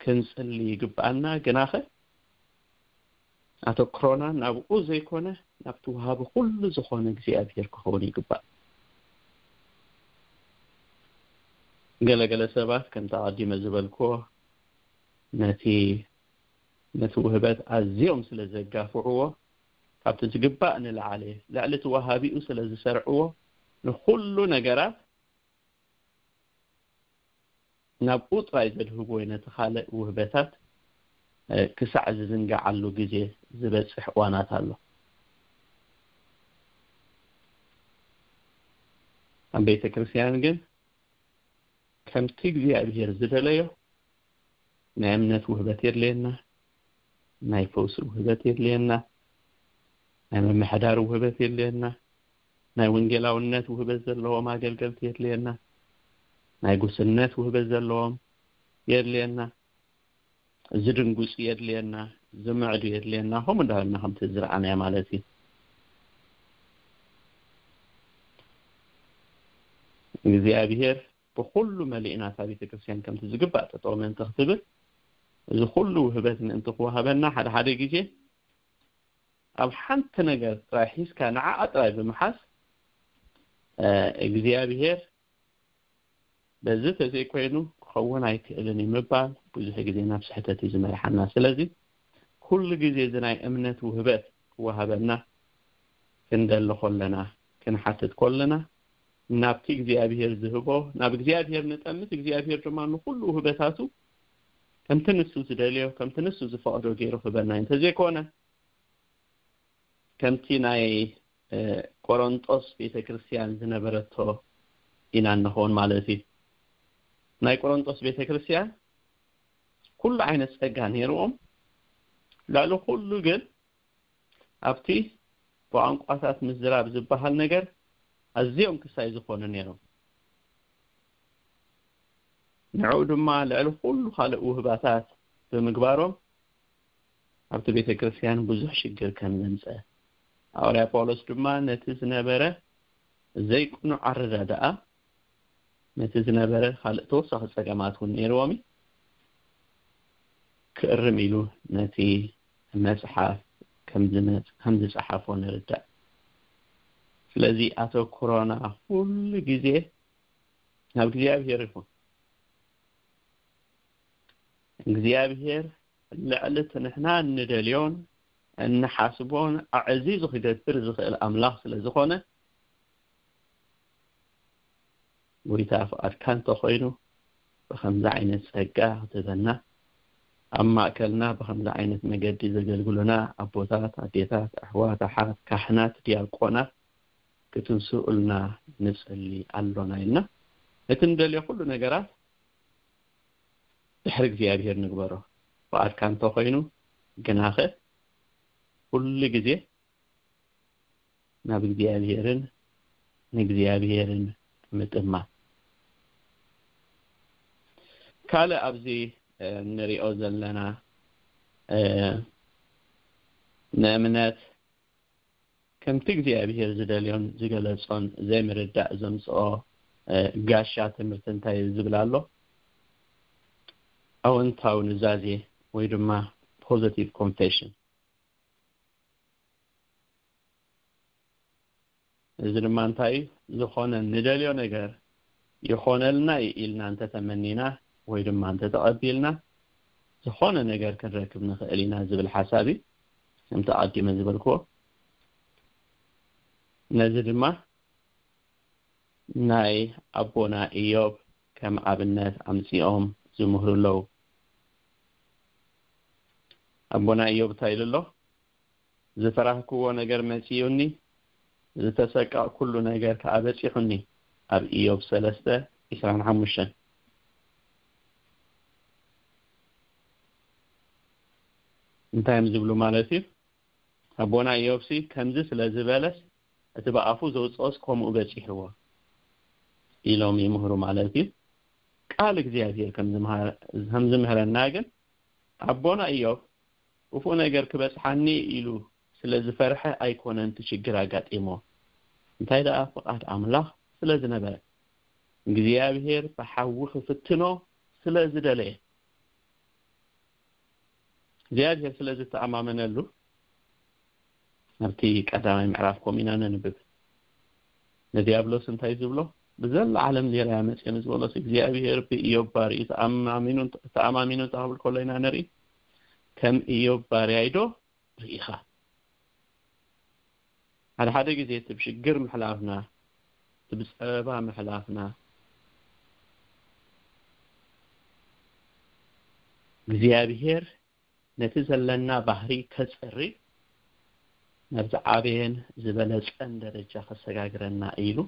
ክንጽሊ ይግብኣና። ግናኸ ኣተኩሮና ናብኡ ዘይኮነ፣ ናብቲ ወሃቢ ኩሉ ዝኾነ እግዚኣብሔር ክኸውን ይግባእ። ገለገለ ሰባት፣ ከምቲ ኣቐዲመ ዝበልክዎ፣ ነቲ፣ ነቲ ውህበት ኣዝዮም ስለ ዘጋፍዕዎ፣ ካብቲ ዝግባእ ንላዕሊ፣ ልዕሊ እቲ ወሃቢኡ ስለ ዝሰርዕዎ፣ ንኹሉ ነገራት ናብኡ ጥራይ ዘድህቡ ወይ ነቲ ካልእ ውህበታት፣ እ፣ ክሳዕ ዝዝንግዓሉ ግዜ ዝበጽሕ እዋናት ኣሎ። ኣብ ቤተ ክርስቲያን ግን ከምቲ እግዚኣብሔር ዝደለዮ ናይ እምነት ውህበት የድልየና፣ ናይ ፈውሲ ውህበት የድልየና፣ ናይ ምምሕዳር ውህበት የድልየና፣ ናይ ወንጌላውነት ውህበት ዘለዎም ኣገልገልቲ የድልየና፣ ናይ ጉስነት ውህበት ዘለዎም የድልየና፣ ዝድንጉጽ የድልየና፣ ዝምዕዱ የድልየና፣ ከምኡ እንዳበልና ከምቲ ዝረኣናዮ ማለት እዩ። እግዚኣብሔር ብኹሉ መሊእና እታ ቤተ ክርስቲያን ከምቲ ዝግባእ ጠጠው ምእንቲ ክትብል፣ እዚ ኩሉ ውህበት ምእንቲ ክወሃበና፣ ሓደ ሓደ ግዜ ኣብ ሓንቲ ነገር ጥራይ ሒዝካ፣ ንዓኣ ጥራይ ብምሓዝ፣ እ፣ እግዚኣብሔር በዚ ተዘይኮይኑ ክኸውን ኣይክእልን እዩ ምባል ብዙሕ ግዜ ናብ ስሕተት እዩ ዝመርሓና። ስለዚ ኩሉ ግዜ እዚ ናይ እምነት ውህበት ክወሃበና ክንደሊ ከለና፣ ክንሓትት ከለና፣ ናብቲ እግዚኣብሔር ዝህቦ፣ ናብ እግዚኣብሔር ንጠምት፣ እግዚኣብሔር ድማ ንኹሉ ውህበታቱ ከምቲ ንሱ ዝደልዮ፣ ከምቲ ንሱ ዝፈቕዶ ገይሩ ክህበና እዩ። እንተዘይኮነ ከምቲ ናይ፣ እ፣ ቆሮንጦስ ቤተክርስትያን ዝነበረቶ ኢና እንኸውን ማለት እዩ። ናይ ቆሮንጦስ ቤተክርስትያን ኩሉ ዓይነት ጸጋ ነይርዎም፣ ልዕሊ ኩሉ ግን ኣብቲ ብቋንቋታት ምዝራብ ዝበሃል ነገር ኣዝዮም ክሳይ ዝኾኑ ነይሮም። ንዕኡ ድማ ልዕሊ ኩሉ ካልእ ውህባታት ብምግባሮም ኣብቲ ቤተ ክርስቲያን ብዙሕ ሽግር ከም ዘምጸ፣ ሃዋርያ ጳውሎስ ድማ ነቲ ዝነበረ ዘይቅኑዕ ኣረዳድኣ፣ ነቲ ዝነበረ ካልእ ተወሳኺ ጸገማት እውን ነይርዎም እዩ፣ ክእርም ኢሉ ነቲ መጽሓፍ ከም ዝመጽ-፣ ከም ዝጸሓፎ ንርዳእ። ስለዚ ኣተኩሮና ኩሉ ግዜ ናብ እግዚኣብሔር ይኹን። እግዚኣብሔር ልዕሊ እቲ ንሕና እንደልዮን እንሓስቦን ኣዕዚዙ ክገብር ዝኽእል ኣምላኽ ስለ ዝኾነ፣ ጎይታ ፍቓድካ እንተኾይኑ ብኸምዚ ዓይነት ጸጋ ክትህበና፣ ኣብ ማእከልና ብኸምዚ ዓይነት መገዲ ዘገልግሉና ኣቦታት፣ ኣዴታት፣ ኣሕዋት፣ ኣሓት፣ ካህናት፣ ዲያቆናት ክትንስኡልና ንጸሊ ኣሎና ኢልና። እቲ ንደልዮ ኩሉ ነገራት ድሕሪ እግዚኣብሔር ንግበሮ። ፍቓድካ እንተኾይኑ ግናኸ ኩሉ ግዜ ናብ እግዚኣብሔርን ንእግዚኣብሔርን ምጥማት። ካልእ ኣብዚ፣ እ፣ እንሪኦ ዘለና፣ እ፣ ንእምነት ከምቲ እግዚኣብሔር ዝደልዮን ዝገለጾን ዘይምርዳእ ዘምጽኦ፣ እ፣ ጋሻ ትምህርቲ እንታይ እዩ ዝብል ኣሎ? ኣወንታዊ ኑዛዜ ወይ ድማ positive confession። እዚ ድማ እንታይ እዩ? ዝኾነ ንደልዮ ነገር ይኾነልና እዩ ኢልና እንተተመኒና ወይ ድማ እንተተቐቢልና፣ ዝኾነ ነገር ክንረክብ ንኽእል ኢና ዝብል ሓሳብ እዩ። ከምቲ ኣቐዲመ ዝበልክዎ፣ ነዚ ድማ ናይ ኣቦና ኢዮብ ከም ኣብነት ኣምጺኦም ዝምህሩ ኣለዉ። ኣቦና ኢዮብ እንታይ ኢሉ ኣሎ? "ዝፈራህክዎ ነገር መጺኡኒ፣ ዝተሰቀቕኩሉ ነገር ከኣ በጺሑኒ።" ኣብ ኢዮብ ሰለስተ፣ ዒስራን ሓሙሽተን። እንታይ እዮም ዝብሉ ማለት እዩ? ኣቦና ኢዮብሲ ከምዚ ስለ ዝበለስ፣ እቲ ብኣፉ ዘውጽኦስ ከምኡ በጺሕዎ ኢሎም ይምህሩ ማለት እዩ። ቃል እግዚኣብሔር ከም ዝምሃ-፣ ከም ዝምህረና ግን፣ ኣቦና ኢዮብ ክፉእ ነገር ክበጽሓኒ ኢሉ ስለ ዝፈርሐ ኣይኮነን እቲ ሽግር ኣጋጢሞ። እንታይ ደኣ ፍቓድ ኣምላኽ ስለ ዝነበረ፣ እግዚኣብሔር ብሓዊ ክፍትኖ ስለ ዝደለየ፣ እግዚኣብሔር ስለ ዝተኣማመነሉ፣ ኣብቲ ቀዳማይ ምዕራፍ ከምኡ ኢና ነንብብ። ንዲያብሎስ እንታይ ዝብሎ? "ብዘላ ዓለም ሌላ እያ መጽኤ" ንዝበሎስ፣ እግዚኣብሔር ብኢዮብ ባርዩ ተኣማሚኑ፣ ተኣማሚኑ እንተኽብል ከሎ ኢና ንርኢ። ከም ኢዮብ ባርያይ ዶ ርኢኻ? ሓደ ሓደ ግዜ እቲ ብሽግር ምሕላፍና፣ እቲ ብጸበባ ምሕላፍና፣ እግዚኣብሔር ነቲ ዘለና ባህሪ ከጽሪ፣ ናብ ዝዓበየን ዝበለጸን ደረጃ ከሰጋግረና ኢሉ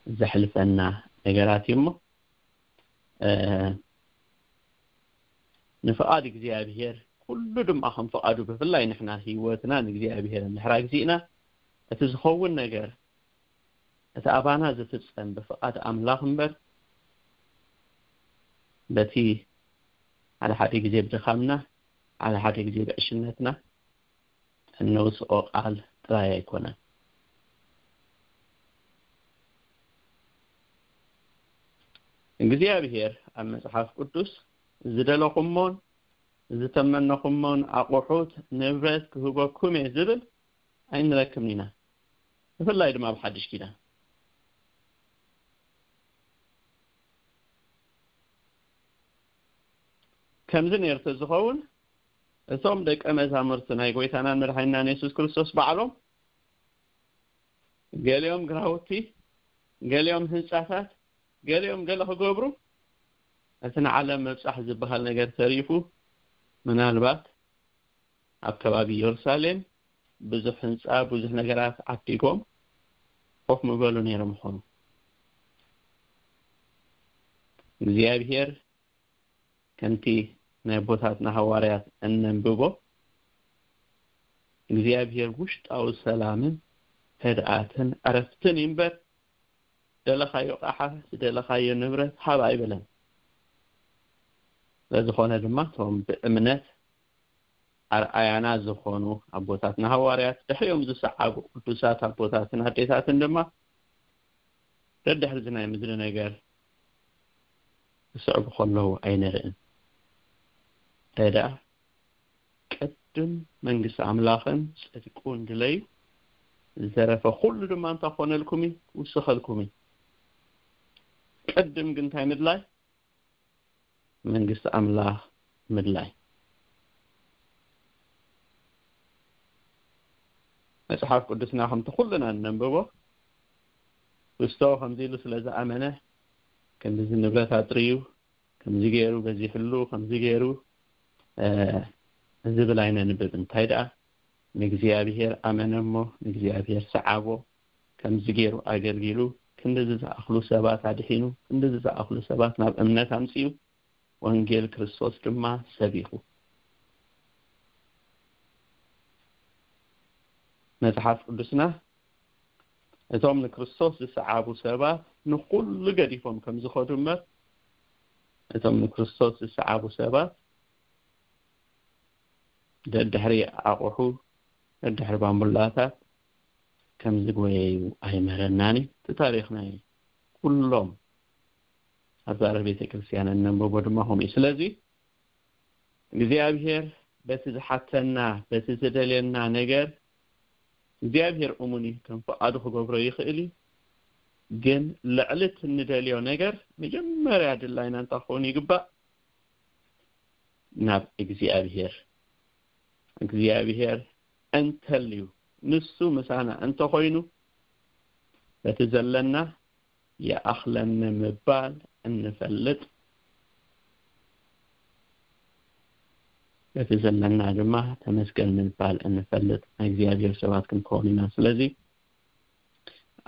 ዘሕልፈና ነገራት እዩ እሞ፣ እ፣ ንፍቓድ እግዚኣብሔር ኩሉ ድማ ከም ፍቓዱ፣ ብፍላይ ንሕና ህይወትና ንእግዚኣብሔር እንድሕር ኣግዚእና፣ እቲ ዝኸውን ነገር፣ እቲ ኣባና ዝፍጸም ብፍቓድ ኣምላኽ እምበር፣ በቲ ሓደ ሓደ ግዜ ብድኻምና፣ ሓደ ሓደ ግዜ ብዕሽነትና እነውስኦ ቃል ጥራይ ኣይኮነን። እግዚኣብሔር ኣብ መጽሓፍ ቅዱስ "ዝደለኹሞን ዝተመነኹሞን ኣቑሑት፣ ንብረት ክህበኩም እየ" ዝብል ኣይንረክብን ኢና። ብፍላይ ድማ ኣብ ሓድሽ ኪዳን። ከምዚ ነይሩ ተዝኸውን፣ እቶም ደቀ መዛሙርቲ ናይ ጎይታናን መድሓኒናን የሱስ ክርስቶስ ባዕሎም፣ ገሊኦም ግራውቲ፣ ገሊኦም ህንጻታት፣ ገሊኦም ገለ ክገብሩ፣ እቲ ንዓለም ምብጻሕ ዝበሃል ነገር ተሪፉ፣ ምናልባት ኣብ ከባቢ የሩሳሌም ብዙሕ ህንጻ፣ ብዙሕ ነገራት ዓዲጎም ኮፍ ምበሉ ነይሮም ይኾኑ። እግዚኣብሔር፣ ከምቲ ናይ ኣቦታትና ሃዋርያት እነንብቦ፣ እግዚኣብሔር ውሽጣዊ ሰላምን ህድኣትን ዕረፍትን ይንበር፣ ደለኻዮ ቃሓ፣ ዝደለኻዮ ንብረት ሃብ ኣይበለን። ስለዝኾነ ድማ እቶም ብእምነት ኣርኣያና ዝኾኑ ኣቦታትና ሃዋርያት፣ ድሕሪኦም ዝሰዓቡ ቅዱሳት ኣቦታትን ኣዴታትን ድማ ደድሕሪ እዚ ናይ ምድሪ ነገር ክስዕቡ ከለዉ ኣይንርእን። እንታይ ደኣ፣ ቅድም መንግስቲ ኣምላኽን ጽድቁን ድለዩ፣ ዝተረፈ ኩሉ ድማ እንታይ ኮነልኩም እዩ? ክውስኸልኩም እዩ። ቅድም ግን እንታይ ምድላይ? መንግስቲ ኣምላኽ ምድላይ። መጽሓፍ ቅዱስና ከምቲ ኩልና እነንብቦ፣ ክስቶ ከምዚ ኢሉ ስለ ዝኣመነ፣ ከምዚ ንብረት ኣጥርዩ፣ ከምዚ ገይሩ በዚሕሉ፣ ከምዚ ገይሩ፣ እ፣ ዝብል ኣይነንብብ። እንታይ ደኣ፣ ንእግዚኣብሔር ኣመነ እሞ፣ ንእግዚኣብሔር ሰዓቦ፣ ከምዚ ገይሩ ኣገልጊሉ፣ ክንድዚ ዝኣኽሉ ሰባት ኣድሒኑ፣ ክንድዚ ዝኣኽሉ ሰባት ናብ እምነት ኣምጺኡ፣ ወንጌል ክርስቶስ ድማ ሰቢኹ። መጽሓፍ ቅዱስና፣ እቶም ንክርስቶስ ዝሰዓቡ ሰባት ንኹሉ ገዲፎም ከም ዝኸዱ እምበር፣ እቶም ንክርስቶስ ዝሰዓቡ ሰባት ደድሕሪ ኣቑሑ፣ ደድሕሪ ባምቡላታት ከም ዝጎየዩ ኣይምህረናን እዩ። እቲ ታሪኽ ናይ ኩሎም ኣዛረ ቤተ ክርስቲያን እነንብቦ ድማ ከምኡ እዩ። ስለዚ እግዚኣብሔር በቲ ዝሓተና፣ በቲ ዝደልየና ነገር እግዚኣብሔር እሙን እዩ፣ ከም ፍቓዱ ክገብሮ ይኽእል እዩ። ግን ልዕሊ እቲ እንደልዮ ነገር መጀመርያ ድላይና እንታይ ክኸውን ይግባእ? ናብ እግዚኣብሔር። እግዚኣብሔር እንተልዩ፣ ንሱ ምሳና እንተኾይኑ፣ በቲ ዘለና ይኣኽለኒ ምባል እንፈልጥ፣ በቲ ዘለና ድማ ተመስገን ምባል እንፈልጥ ናይ እግዚኣብሔር ሰባት ክንከውን ኢና። ስለዚ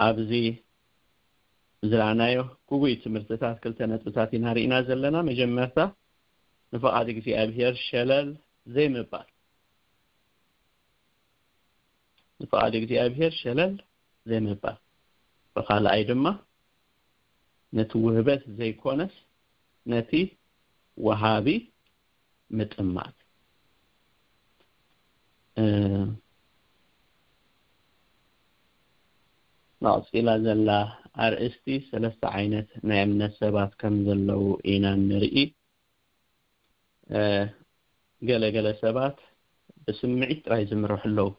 ኣብዚ ዝረኣናዮ ግጉይ ትምህርትታት ክልተ ነጥብታት ኢና ርኢና ዘለና። መጀመርታ፣ ንፍቓድ እግዚኣብሔር ሸለል ዘይምባል። ንፍቓድ እግዚኣብሔር ሸለል ዘይምባል። ብኻልኣይ ድማ፣ ነቲ ውህበት ዘይኮነስ፣ ነቲ ወሃቢ ምጥማት። እ፣ መቕጺላ ዘላ ኣርእስቲ፣ ሰለስተ ዓይነት ናይ እምነት ሰባት ከም ዘለዉ ኢና ንርኢ። እ፣ ገለ ገለ ሰባት ብስምዒት ጥራይ ዝምርሑ ኣለዉ።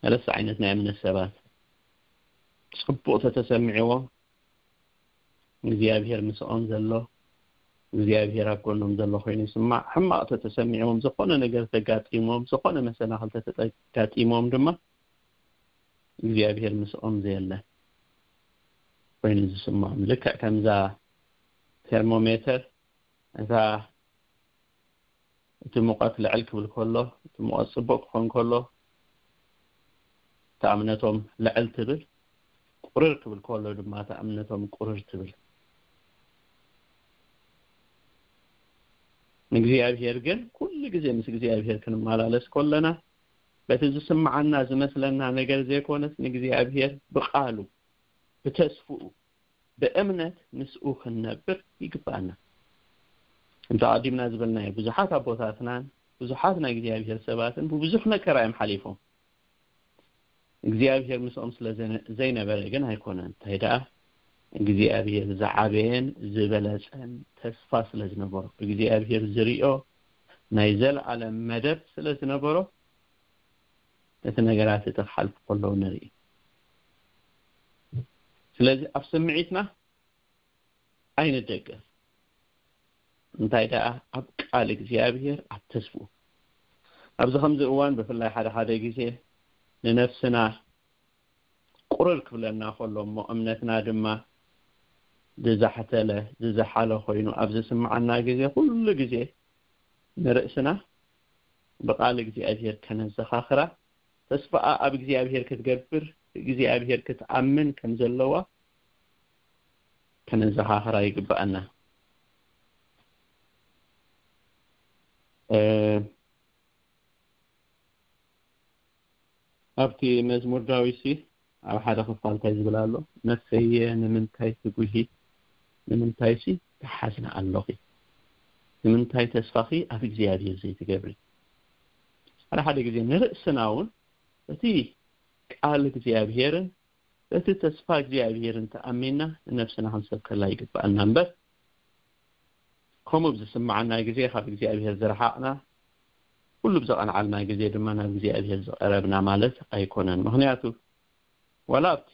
ሰለስተ ዓይነት ናይ እምነት ሰባት። ጽቡቕ ተተሰሚዕዎም፣ እግዚኣብሔር ምስኦም ዘሎ፣ እግዚኣብሔር ኣብ ጎኖም ዘሎ ኮይኑ ይስማዕ። ሕማቕ ተተሰሚዕዎም፣ ዝኾነ ነገር ተጋጢሞም፣ ዝኾነ መሰናኽል ተተጋጢሞም ድማ፣ እግዚኣብሔር ምስኦም ዘየለ ኮይኑ ዝስምዖም። ልክዕ ከምዛ ቴርሞሜተር፣ እታ እቲ ሙቐት ልዕል ክብል ከሎ፣ እቲ ሙቐት ጽቡቕ ክኾን ከሎ፣ እታ እምነቶም ልዕል ትብል፣ ቁርር ክብል ከሎ ድማ እታ እምነቶም ቁርር ትብል። ንእግዚኣብሔር ግን ኩሉ ግዜ ምስ እግዚኣብሔር ክንመላለስ ከለና፣ በቲ ዝስምዓና ዝመስለና ነገር ዘይኮነስ፣ ንእግዚኣብሔር ብቓሉ፣ ብተስፍኡ፣ ብእምነት ምስኡ ክንነብር ይግባኣና። እንተ ኣቐዲምና ዝበልናዮ፣ ብዙሓት ኣቦታትናን ብዙሓት ናይ እግዚኣብሔር ሰባትን ብብዙሕ መከራ እዮም ሓሊፎም። እግዚኣብሔር ምስኦም ስለ ዘነ-፣ ዘይነበረ ግን ኣይኮነን። እንታይ ደኣ፣ እግዚኣብሔር ዝዓበየን ዝበለጸን ተስፋ ስለ ዝነበሮ፣ እግዚኣብሔር ዝሪኦ ናይ ዘለኣለም መደብ ስለ ዝነበሮ፣ እቲ ነገራት እቲ ክሓልፉ ከለዉ ንርኢ። ስለዚ ኣብ ስምዒትና ኣይንደገፍ። እንታይ ደኣ፣ ኣብ ቃል እግዚኣብሔር፣ ኣብ ተስፍኡ። ኣብዚ ከምዚ እዋን ብፍላይ ሓደ ሓደ ግዜ ንነፍስና ቁርር ክብለና ከሎ፣ እሞ እምነትና ድማ ዝዛሕተለ ዝዘሓለ ኮይኑ ኣብ ዝስምዓና ግዜ፣ ኩሉ ግዜ ንርእስና ብቃል እግዚኣብሔር ከነዘኻኽራ፣ ተስፋኣ ኣብ እግዚኣብሔር ክትገብር፣ እግዚኣብሔር ክትኣምን ከም ዘለዋ ከነዘኻኽራ ይግባኣና። እ፣ ኣብቲ መዝሙር ዳዊት ሲ ኣብ ሓደ ክፋል እንታይ ዝብል ኣሎ? "ነፍሰየ ንምንታይ ትጉሂ? ንምንታይ ሲ ትሓዝኒ ኣለኺ? ንምንታይ ተስፋኺ ኣብ እግዚኣብሔር ዘይትገብሪ?" ሓደ ሓደ ግዜ ንርእስና እውን በቲ ቃል እግዚኣብሔርን በቲ ተስፋ እግዚኣብሔርን ተኣሚንና ንነፍስና ክንሰብከላ ይግባኣና እምበር፣ ከምኡ ብዝስምዓና ግዜ ካብ እግዚኣብሔር ዝረሓቕና፣ ኩሉ ብዘቐንዓልና ግዜ ድማ ናብ እግዚኣብሔር ዝቐረብና ማለት ኣይኮነን። ምኽንያቱ ዋላ ኣብቲ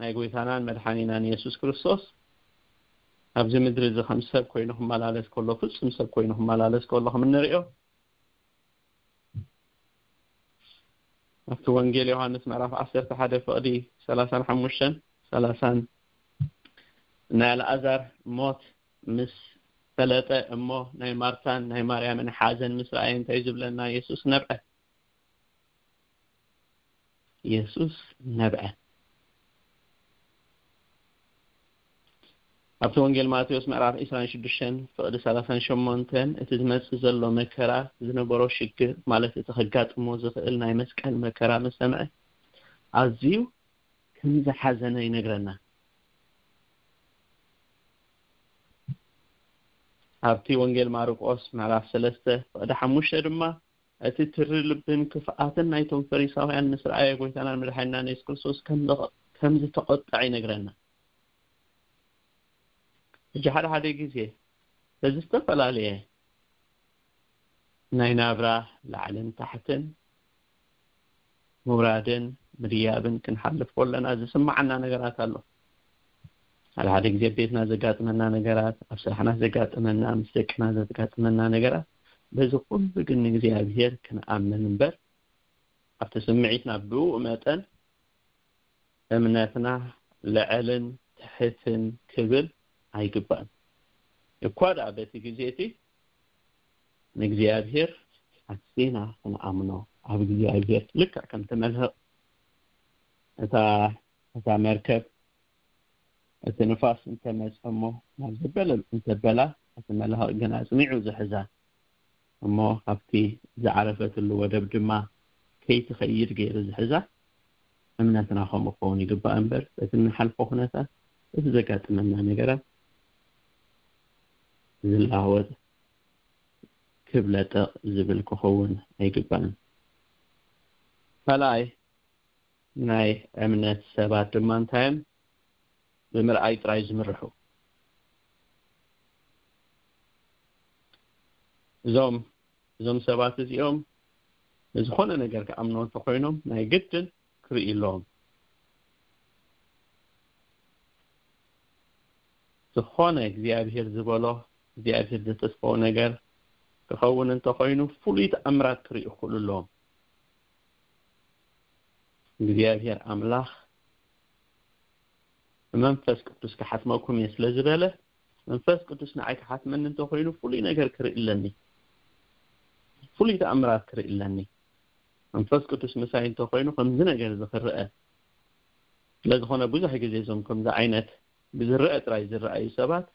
ናይ ጎይታናን መድሓኒናን የሱስ ክርስቶስ ኣብዚ ምድሪ እዚ ከም ሰብ ኮይኑ ክመላለስ ከሎ፣ ፍጹም ሰብ ኮይኑ ክመላለስ ከሎ ከም እንሪኦ፣ ኣብቲ ወንጌል ዮሃንስ ምዕራፍ ዓሰርተ ሓደ ፍቕዲ ሰላሳን ሓሙሽተን ሰላሳን፣ ናይ ኣልኣዛር ሞት ምስ ፈለጠ እሞ ናይ ማርታን ናይ ማርያምን ሓዘን ምስ ረኣየ እንታይ ዝብለና? የሱስ ነብዐ። የሱስ ነብዐ። ኣብቲ ወንጌል ማቴዎስ ምዕራፍ ዕስራን ሽዱሽተን ፍቕዲ ሰላሳን ሸሞንተን፣ እቲ ዝመጽእ ዘሎ መከራ ዝነበሮ ሽግር፣ ማለት እቲ ከጋጥሞ ዝኽእል ናይ መስቀል መከራ ምስ ሰምዐ፣ ኣዝዩ ከም ዝሓዘነ ይነግረና። ኣብቲ ወንጌል ማርቆስ ምዕራፍ ሰለስተ ፍቕዲ ሓሙሽተ ድማ፣ እቲ ትሪ ልብን ክፍኣትን ናይቶም ፈሪሳውያን ምስ ረኣየ፣ ጎይታናን መድሓኒናን የሱስ ክርስቶስ ከም ዘቐ-፣ ከም ዝተቖጥዐ ይነግረና። ሕጂ ሓደ ሓደ ግዜ በዚ ዝተፈላለየ ናይ ናብራ ላዕልን ታሕትን፣ ምውራድን ምድያብን ክንሓልፍ ከለና ዝስምዓና ነገራት ኣሎ። ሓደ ሓደ ግዜ ኣብ ቤትና ዘጋጥመና ነገራት፣ ኣብ ስራሕና ዘጋጥመና፣ ምስ ደቅና ዘጋጥመና ነገራት፣ በዚ ኩሉ ግን ንእግዚኣብሔር ክንኣምን እምበር፣ ኣብቲ ስምዒትና ብኡ መጠን እምነትና ልዕልን ትሕትን ክብል ኣይግባእን። እኳ ደኣ በቲ ግዜ እቲ ንእግዚኣብሔር ኣዚና ክንኣምኖ፣ ኣብ እግዚኣብሔር ልክዕ ከምቲ መልህቕ እታ፣ እታ መርከብ እቲ ንፋስ እንተመጸ እሞ ናብ ዘበለ እንተበላ፣ እቲ መልህቕ ግን ኣጽኒዑ ዝሕዛ እሞ ካብቲ ዝዓረፈትሉ ወደብ ድማ ከይትኸይድ ገይሩ ዝሕዛ፣ እምነትና ከምኡ ክኸውን ይግባእ እምበር፣ በቲ እንሓልፎ ኩነታት፣ በቲ ዘጋጥመና ነገራት ዝላወጥ፣ ክብለጠቕ ዝብል ክኸውን ኣይግባእን። ካልኣይ፣ ናይ እምነት ሰባት ድማ እንታይ እዮም? ብምርኣይ ጥራይ ዝምርሑ። እዞም፣ እዞም ሰባት እዚኦም ንዝኾነ ነገር ክኣምኑ እንተኾይኖም ናይ ግድን ክርእዩ ኣለዎም። ዝኾነ እግዚኣብሔር ዝበሎ፣ እግዚኣብሔር ዘተስፈዎ ነገር ክኸውን እንተኾይኑ ፍሉይ ተኣምራት ክርእዩ ክኽእሉ ኣለዎም። እግዚኣብሔር ኣምላኽ ብመንፈስ ቅዱስ ክሓትመኩም እየ ስለ ዝበለ፣ መንፈስ ቅዱስ ንዓይ ክሓትመኒ እንተኾይኑ ፍሉይ ነገር ክርኢ ኣለኒ፣ ፍሉይ ተኣምራት ክርኢ ኣለኒ። መንፈስ ቅዱስ ምሳይ እንተኾይኑ ከምዚ ነገር እዚ ክረአ። ስለ ዝኾነ ብዙሕ ግዜ እዞም ከምዚ ዓይነት ብዝረአ ጥራይ ዝረኣዩ ሰባት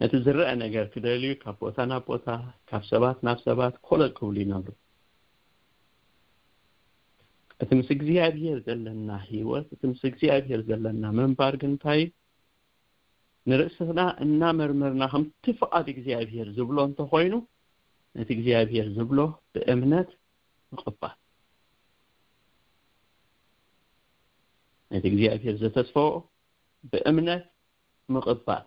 ነቲ ዝረአ ነገር ክደልዩ ካብ ቦታ ናብ ቦታ፣ ካብ ሰባት ናብ ሰባት ኮለል ክብሉ ይነብሩ። እቲ ምስ እግዚኣብሔር ዘለና ህይወት፣ እቲ ምስ እግዚኣብሔር ዘለና ምንባር ግን እንታይ እዩ? ንርእስና እናመርመርና ከምቲ ፍቓድ እግዚኣብሔር ዝብሎ እንተኾይኑ፣ ነቲ እግዚኣብሔር ዝብሎ ብእምነት ምቕባል። ነቲ እግዚኣብሔር ዘተስፈዎ ብእምነት ምቕባል።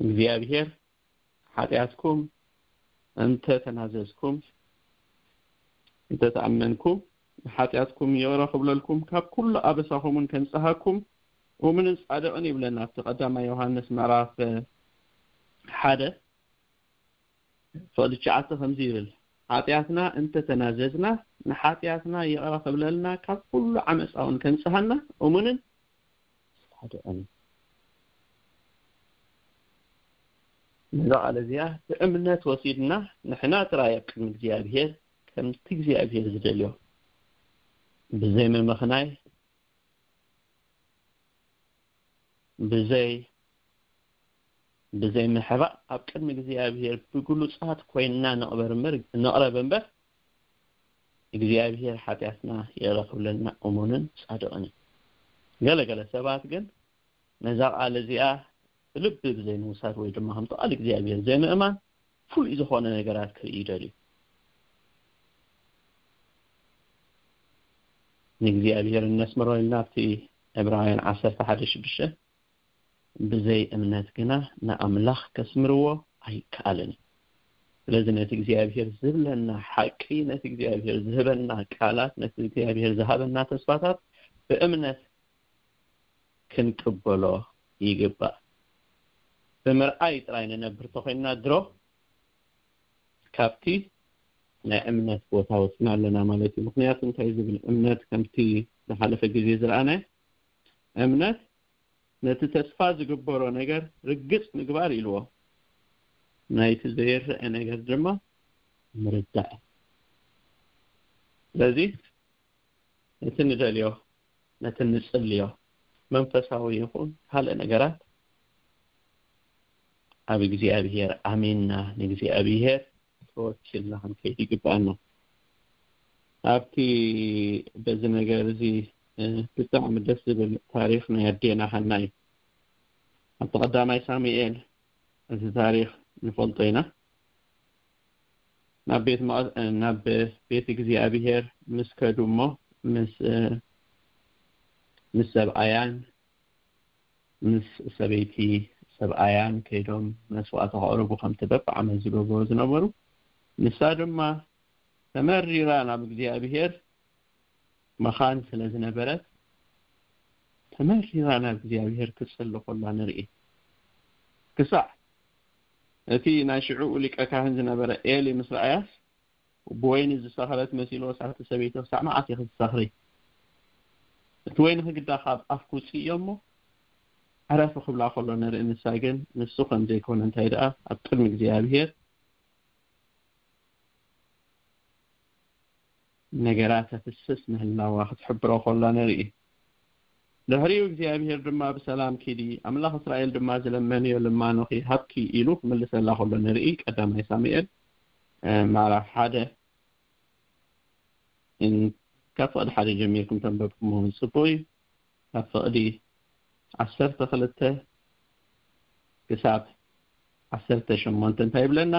እግዚኣብሔር ሓጢኣትኩም እንተ ተናዘዝኩም፣ እንተ ተኣመንኩም፣ ንሓጢኣትኩም ይቕረ ክብለልኩም፣ ካብ ኩሉ ኣበሳኹምን ከንጽሃኩም፣ እሙንን ጻድቕን ይብለና ኣብቲ ቀዳማይ ዮሃንስ ምዕራፍ ሓደ ፍቕዲ ትሽዓተ ከምዚ ይብል፣ ሓጢኣትና እንተተናዘዝና ንሓጢኣትና ይቕረ ክብለልና ካብ ኩሉ ዓመፃ እውን ከንፅሃና እሙንን ጻድቕን። ነዛ ቃል እዚኣ ብእምነት ወሲድና ንሕና ጥራይ ኣብ ቅድሚ እግዚኣብሔር ከምቲ እግዚኣብሔር ዝደልዮ ብዘይ ምምኽናይ ብዘይ ብዘይ ምሕባእ ኣብ ቅድሚ እግዚኣብሔር ብግሉጻት ኮይንና ንቕበር እምበር ንቕረብ እምበር እግዚኣብሔር ሓጢኣትና ይቕረ ክብለልና እሙንን ጻድቕን እዩ። ገለ ገለ ሰባት ግን ነዛ ቃል እዚኣ ብልቢ ብዘይ ምውሳድ ወይ ድማ ከምቲ ቃል እግዚኣብሔር ዘይምእማን ፍሉይ ዝኾነ ነገራት ክርኢ ይደልዩ። ንእግዚኣብሔር እነስምሮ ኢልና ኣብቲ ዕብራውያን ዓሰርተ ሓደ ሽዱሽተ ብዘይ እምነት ግና ንኣምላኽ ከስምርዎ ኣይከኣልን እዩ። ስለዚ ነቲ እግዚኣብሔር ዝብለና ሓቂ፣ ነቲ እግዚኣብሔር ዝህበና ቃላት፣ ነቲ እግዚኣብሔር ዝሃበና ተስፋታት ብእምነት ክንቅበሎ ይግባእ። ብምርኣይ ጥራይ ንነብር ተኾይንና ድሮ ካብቲ ናይ እምነት ቦታ ወፅና ኣለና ማለት እዩ። ምክንያቱ እንታይ ዝብል እምነት ከምቲ ዝሓለፈ ግዜ ዝረኣናይ እምነት ነቲ ተስፋ ዝግበሮ ነገር ርግፅ ምግባር ኢልዎ ናይቲ ዘይረአ ነገር ድማ ምርዳእ። ስለዚ ነቲ ንደልዮ ነቲ ንጽልዮ መንፈሳዊ ይኹን ካልእ ነገራት ኣብ እግዚኣብሔር ኣሚንና ንእግዚኣብሔር ተወኪልና ክንከይድ ይግብኣና። ኣብቲ በዚ ነገር እዚ ብጣዕሚ ደስ ዝብል ታሪኽ ናይ ኣዴና ሃና እዩ። ኣብቲ ቀዳማይ ሳሙኤል እዚ ታሪኽ ንፈልጦ ኢና። ናብ ቤት መቐ- ናብ ቤት እግዚኣብሔር ምስ ከዱ እሞ ምስ ምስ ሰብኣያን ምስ ሰበይቲ ሰብኣያን ከይዶም መስዋእቲ ከቕርቡ ከምቲ በብዓመት ዝገብሩ ዝነበሩ፣ ንሳ ድማ ተመሪራ ናብ እግዚኣብሔር መኻን ስለ ዝነበረት ተመሪራ ናብ እግዚኣብሔር ክትጽሊ ከላ ንርኢ። ክሳዕ እቲ ናይ ሽዑኡ ሊቀ ካህን ዝነበረ ኤሊ ምስ ረኣያስ ብወይኒ ዝሰኽረት መሲልዎ ሳቲ ሰበይቲ ክሳዕ መዓስ ኢኺ ትሰኽሪ? እቲ ወይኒ ክግዳ ካብ ኣፍኪ ውፅእዮ እሞ ዕረፊ ክብላ ከሎ ንርኢ። ንሳ ግን ንሱ ከም ዘይኮነ እንታይ ደኣ ኣብ ቅድሚ እግዚኣብሔር ነገራት ኣፍስስ ምህላዋ ክትሕብሮ ከላ ንርኢ። ድሕሪኡ እግዚኣብሔር ድማ ብሰላም ኪዲ፣ ኣምላኽ እስራኤል ድማ ዝለመንዮ ልማኖኺ ሃብኪ ኢሉ ክምልሰላ ከሎ ንርኢ። ቀዳማይ ሳሙኤል ምዕራፍ ሓደ ካብ ፍቕዲ ሓደ ጀሚርኩም ተንበብኩሞ እውን ፅቡቕ እዩ። ካብ ፍቕዲ ዓሰርተ ክልተ ክሳብ ዓሰርተ ሸሞንተ እንታይ ይብለና?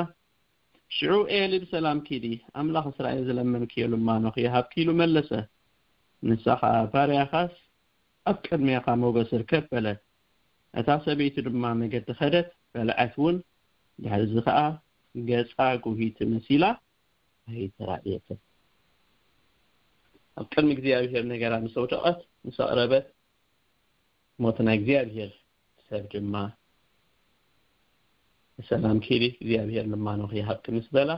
ሽዑ ኤሊ ብሰላም ኪዲ፣ ኣምላኽ እስራኤል ዝለመንክዮ ልማኖ ክይሃብኪ ኢሉ መለሰ። ንሳ ኸኣ ባርያኻስ ኣብ ቅድሜኻ ሞገስ ርከብ በለት። እታ ሰበይቲ ድማ መገዲ ኸደት፣ በልዐት እውን። ድሕሪ እዚ ኸኣ ገጻ ጉሂቲ መሲላ ኣይተራእየትን። ኣብ ቅድሚ እግዚኣብሔር ነገራ ምስ ኣውደቐት፣ ምስ ኣቕረበት፣ ሞት ናይ እግዚኣብሔር ሰብ ድማ ብሰላም ኪዲ እግዚኣብሔር ልማኖ ክይሃብኪ ምስ በላ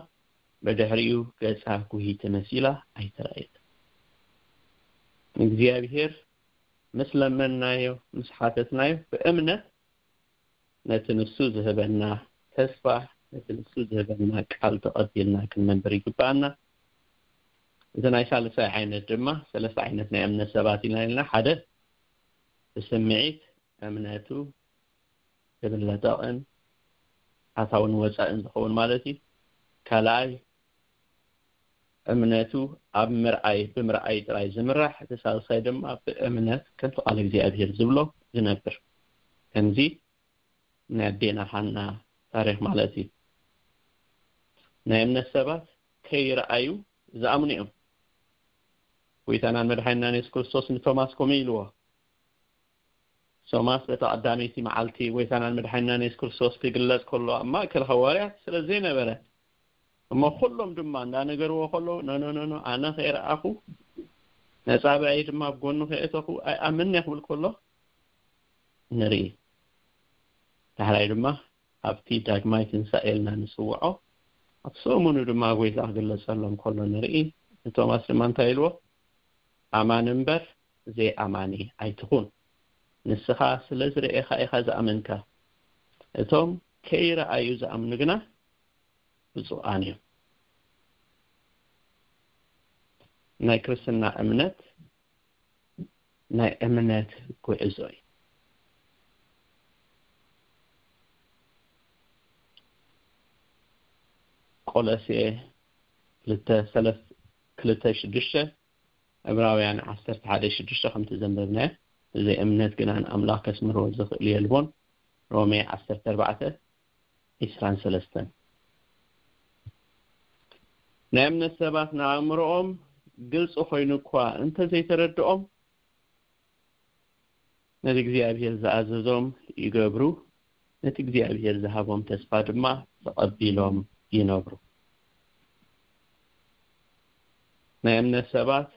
ብድሕሪኡ ገጻ ጉሂቲ መሲላ ኣይተራእየት። ንእግዚኣብሔር ምስ ለመንናዮ ምስ ሓተትናዮ ብእምነት ነቲ ንሱ ዝህበና ተስፋ ነቲ ንሱ ዝህበና ቃል ተቐቢልና ክንነብር ይግባኣና። እዚ ናይ ሳልሳይ ዓይነት ድማ ሰለስተ ዓይነት ናይ እምነት ሰባት ኢና ኢልና ሓደ ብስምዒት እምነቱ ዝብለጠቕን ኣታውን ወፃእን ዝኸውን ማለት እዩ። ካልኣይ እምነቱ ኣብ ምርኣይ ብምርኣይ ጥራይ ዝምራሕ፣ እቲ ሳልሳይ ድማ ብእምነት ከምቲ ቃል እግዚኣብሔር ዝብሎ ዝነብር። ከምዚ ናይ ኣዴና ሓና ታሪክ ማለት እዩ። ናይ እምነት ሰባት ከይረኣዩ ዝኣምኑ እዮም። ጎይታናን መድሓኒናን የሱስ ክርስቶስ ንቶማስ ከምኡ ኢልዎ። ቶማስ በታ ቀዳመይቲ መዓልቲ ጎይታናን መድሓኒናን የሱስ ክርስቶስ ክግለጽ ከሎ ኣብ ማእከል ሃዋርያት ስለ ዘይነበረ እሞ ኩሎም ድማ እንዳነገርዎ ከለዉ ኖኖኖኖ ኣነ ከይረኣኹ ነጻብዐይ ድማ ኣብ ጎኑ ከየእተኹ ኣይኣምንን እየ ክብል ከሎ ንርኢ። ዳሕራይ ድማ ኣብቲ ዳግማይ ትንሳኤ ኢልና ንጽውዖ፣ ኣብ ሰሙኑ ድማ ጎይታ ክግለጸሎም ከሎ ንርኢ። ንቶማስ ድማ እንታይ ኢልዎ? ኣማን እምበር ዘይኣማኒ ኣይትኹን። ንስኻ ስለ ዝረኤኻ ኢኻ ዝኣመንካ። እቶም ከይረኣዩ ዝኣምኑ ግና ብፁዓን እዮም። ናይ ክርስትና እምነት ናይ እምነት ጉዕዞ እዩ። ቆሎሴ ክልተ ሰለስተ፣ ክልተ ሽዱሽተ፣ ዕብራውያን ዓሰርተ ሓደ ሽዱሽተ ከምቲ ዘንበብናዮ፣ ብዘይ እምነት ግና ንኣምላኽ ከስምርዎ ዝኽእል የልቦን። ሮሜ ዓሰርተ ኣርባዕተ ዒስራን ሰለስተን። ናይ እምነት ሰባት ንኣእምሮኦም ግልፂ ኮይኑ እኳ እንተዘይተረድኦም፣ ነቲ እግዚኣብሔር ዝኣዘዞም ይገብሩ፣ ነቲ እግዚኣብሔር ዝሃቦም ተስፋ ድማ ተቐቢሎም ይነብሩ። ናይ እምነት ሰባት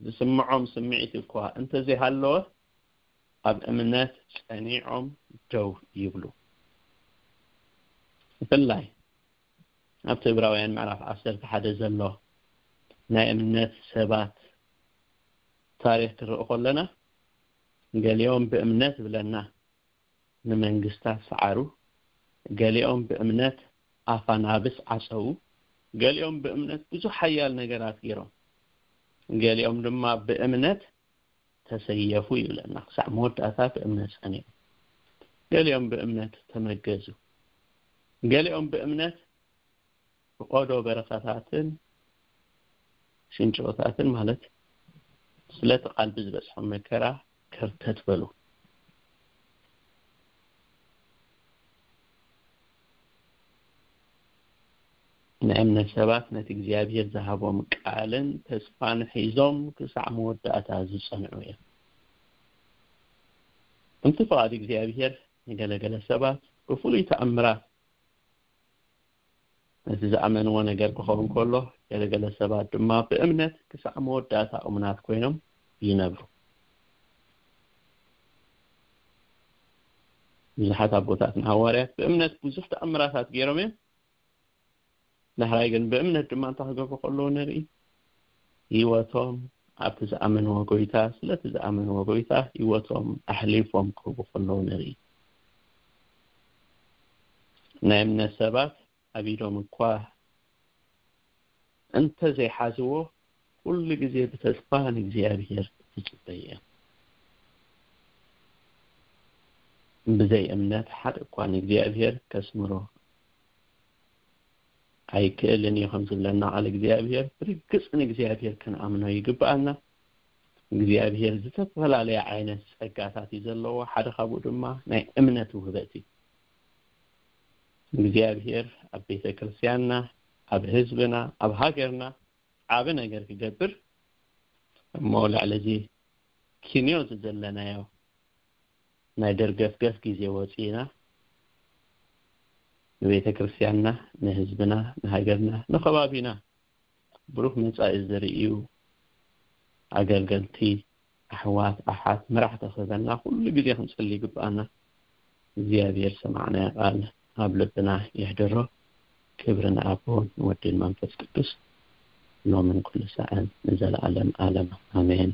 ዝስምዖም ስምዒት እኳ እንተዘይሃለወ፣ ኣብ እምነት ጸኒዖም ደው ይብሉ። ብፍላይ ኣብቲ ዕብራውያን ምዕራፍ ዓሰርተ ሓደ ዘሎ ናይ እምነት ሰባት ታሪኽ ክርኢ ከለና፣ ገሊኦም ብእምነት ብለና ንመንግስታት ሰዓሩ፣ ገሊኦም ብእምነት ኣፋ ናብስ ዓጸዉ፣ ገሊኦም ብእምነት ብዙሕ ሓያል ነገራት ገይሮም፣ ገሊኦም ድማ ብእምነት ተሰየፉ ይብለና። ክሳዕ መወዳእታ ብእምነት ጸኒዑ። ገሊኦም ብእምነት ተመገዙ። ገሊኦም ብእምነት ብቆዶ በረኻታትን ሽንጭሮታትን፣ ማለት ስለቲ ቃል ብዝበጽሖም መከራ ከርተት በሉ። ናይ እምነት ሰባት ነቲ እግዚኣብሔር ዝሃቦም ቃልን ተስፋን ሒዞም ክሳዕ መወዳእታ ዝጸንዑ እዮም። ከምቲ ፍቓድ እግዚኣብሔር ንገለገለ ሰባት ብፍሉይ ተኣምራት ነቲ ዝኣመንዎ ነገር ክኸውን ከሎ፣ ገለገለ ሰባት ድማ ብእምነት ክሳዕ መወዳእታ እሙናት ኮይኖም ይነብሩ። ብዙሓት ኣቦታትና ሃዋርያት ብእምነት ብዙሕ ተኣምራታት ገይሮም እዮም። ዳሕራይ ግን ብእምነት ድማ እንታይ ክገብሩ ከለዉ ንርኢ? ህይወቶም ኣብቲ ዝኣመንዎ ጎይታ፣ ስለቲ ዝኣመንዎ ጎይታ ህይወቶም ኣሕሊፎም ክህቡ ከለዉ ንርኢ። ናይ እምነት ሰባት ኣብ ኢዶም እኳ እንተዘይሓዝዎ፣ ኩሉ ግዜ ብተስፋ ንእግዚኣብሔር ይጽበዩ እዮም። ብዘይ እምነት ሓደ እኳ ንእግዚኣብሔር ከስምሮ ኣይክእልን እዩ ከም ዝብለና ቃል እግዚኣብሔር፣ ብርግጽ ንእግዚኣብሔር ክንኣምኖ ይግብኣና። እግዚኣብሔር ዝተፈላለየ ዓይነት ጸጋታት እዩ ዘለዎ። ሓደ ካብኡ ድማ ናይ እምነት ውህበት እዩ። እግዚኣብሔር ኣብ ቤተ ክርስቲያንና፣ ኣብ ህዝብና፣ ኣብ ሃገርና ዓቢ ነገር ክገብር እሞ፣ ልዕሊ እዚ ኪንዮ ዘለናዮ ናይ ደርገፍገፍ ግዜ ወጺእና፣ ንቤተ ክርስቲያንና፣ ንህዝብና፣ ንሃገርና፣ ንኸባቢና ብሩህ መጻኢ ዘርእዩ ኣገልገልቲ፣ ኣሕዋት፣ ኣሓት፣ መራሕቲ ክህበና ኩሉ ግዜ ክንጽሊ ይግብኣና። እግዚኣብሔር ሰማዕናዮ ቃል ኣብ ልብና የሕድሮ። ክብሪ ንኣቦ፣ ንወድን መንፈስ ቅዱስ፣ ሎምን ኩሉ ሰዓን ንዘለዓለም ዓለም። ኣሜን።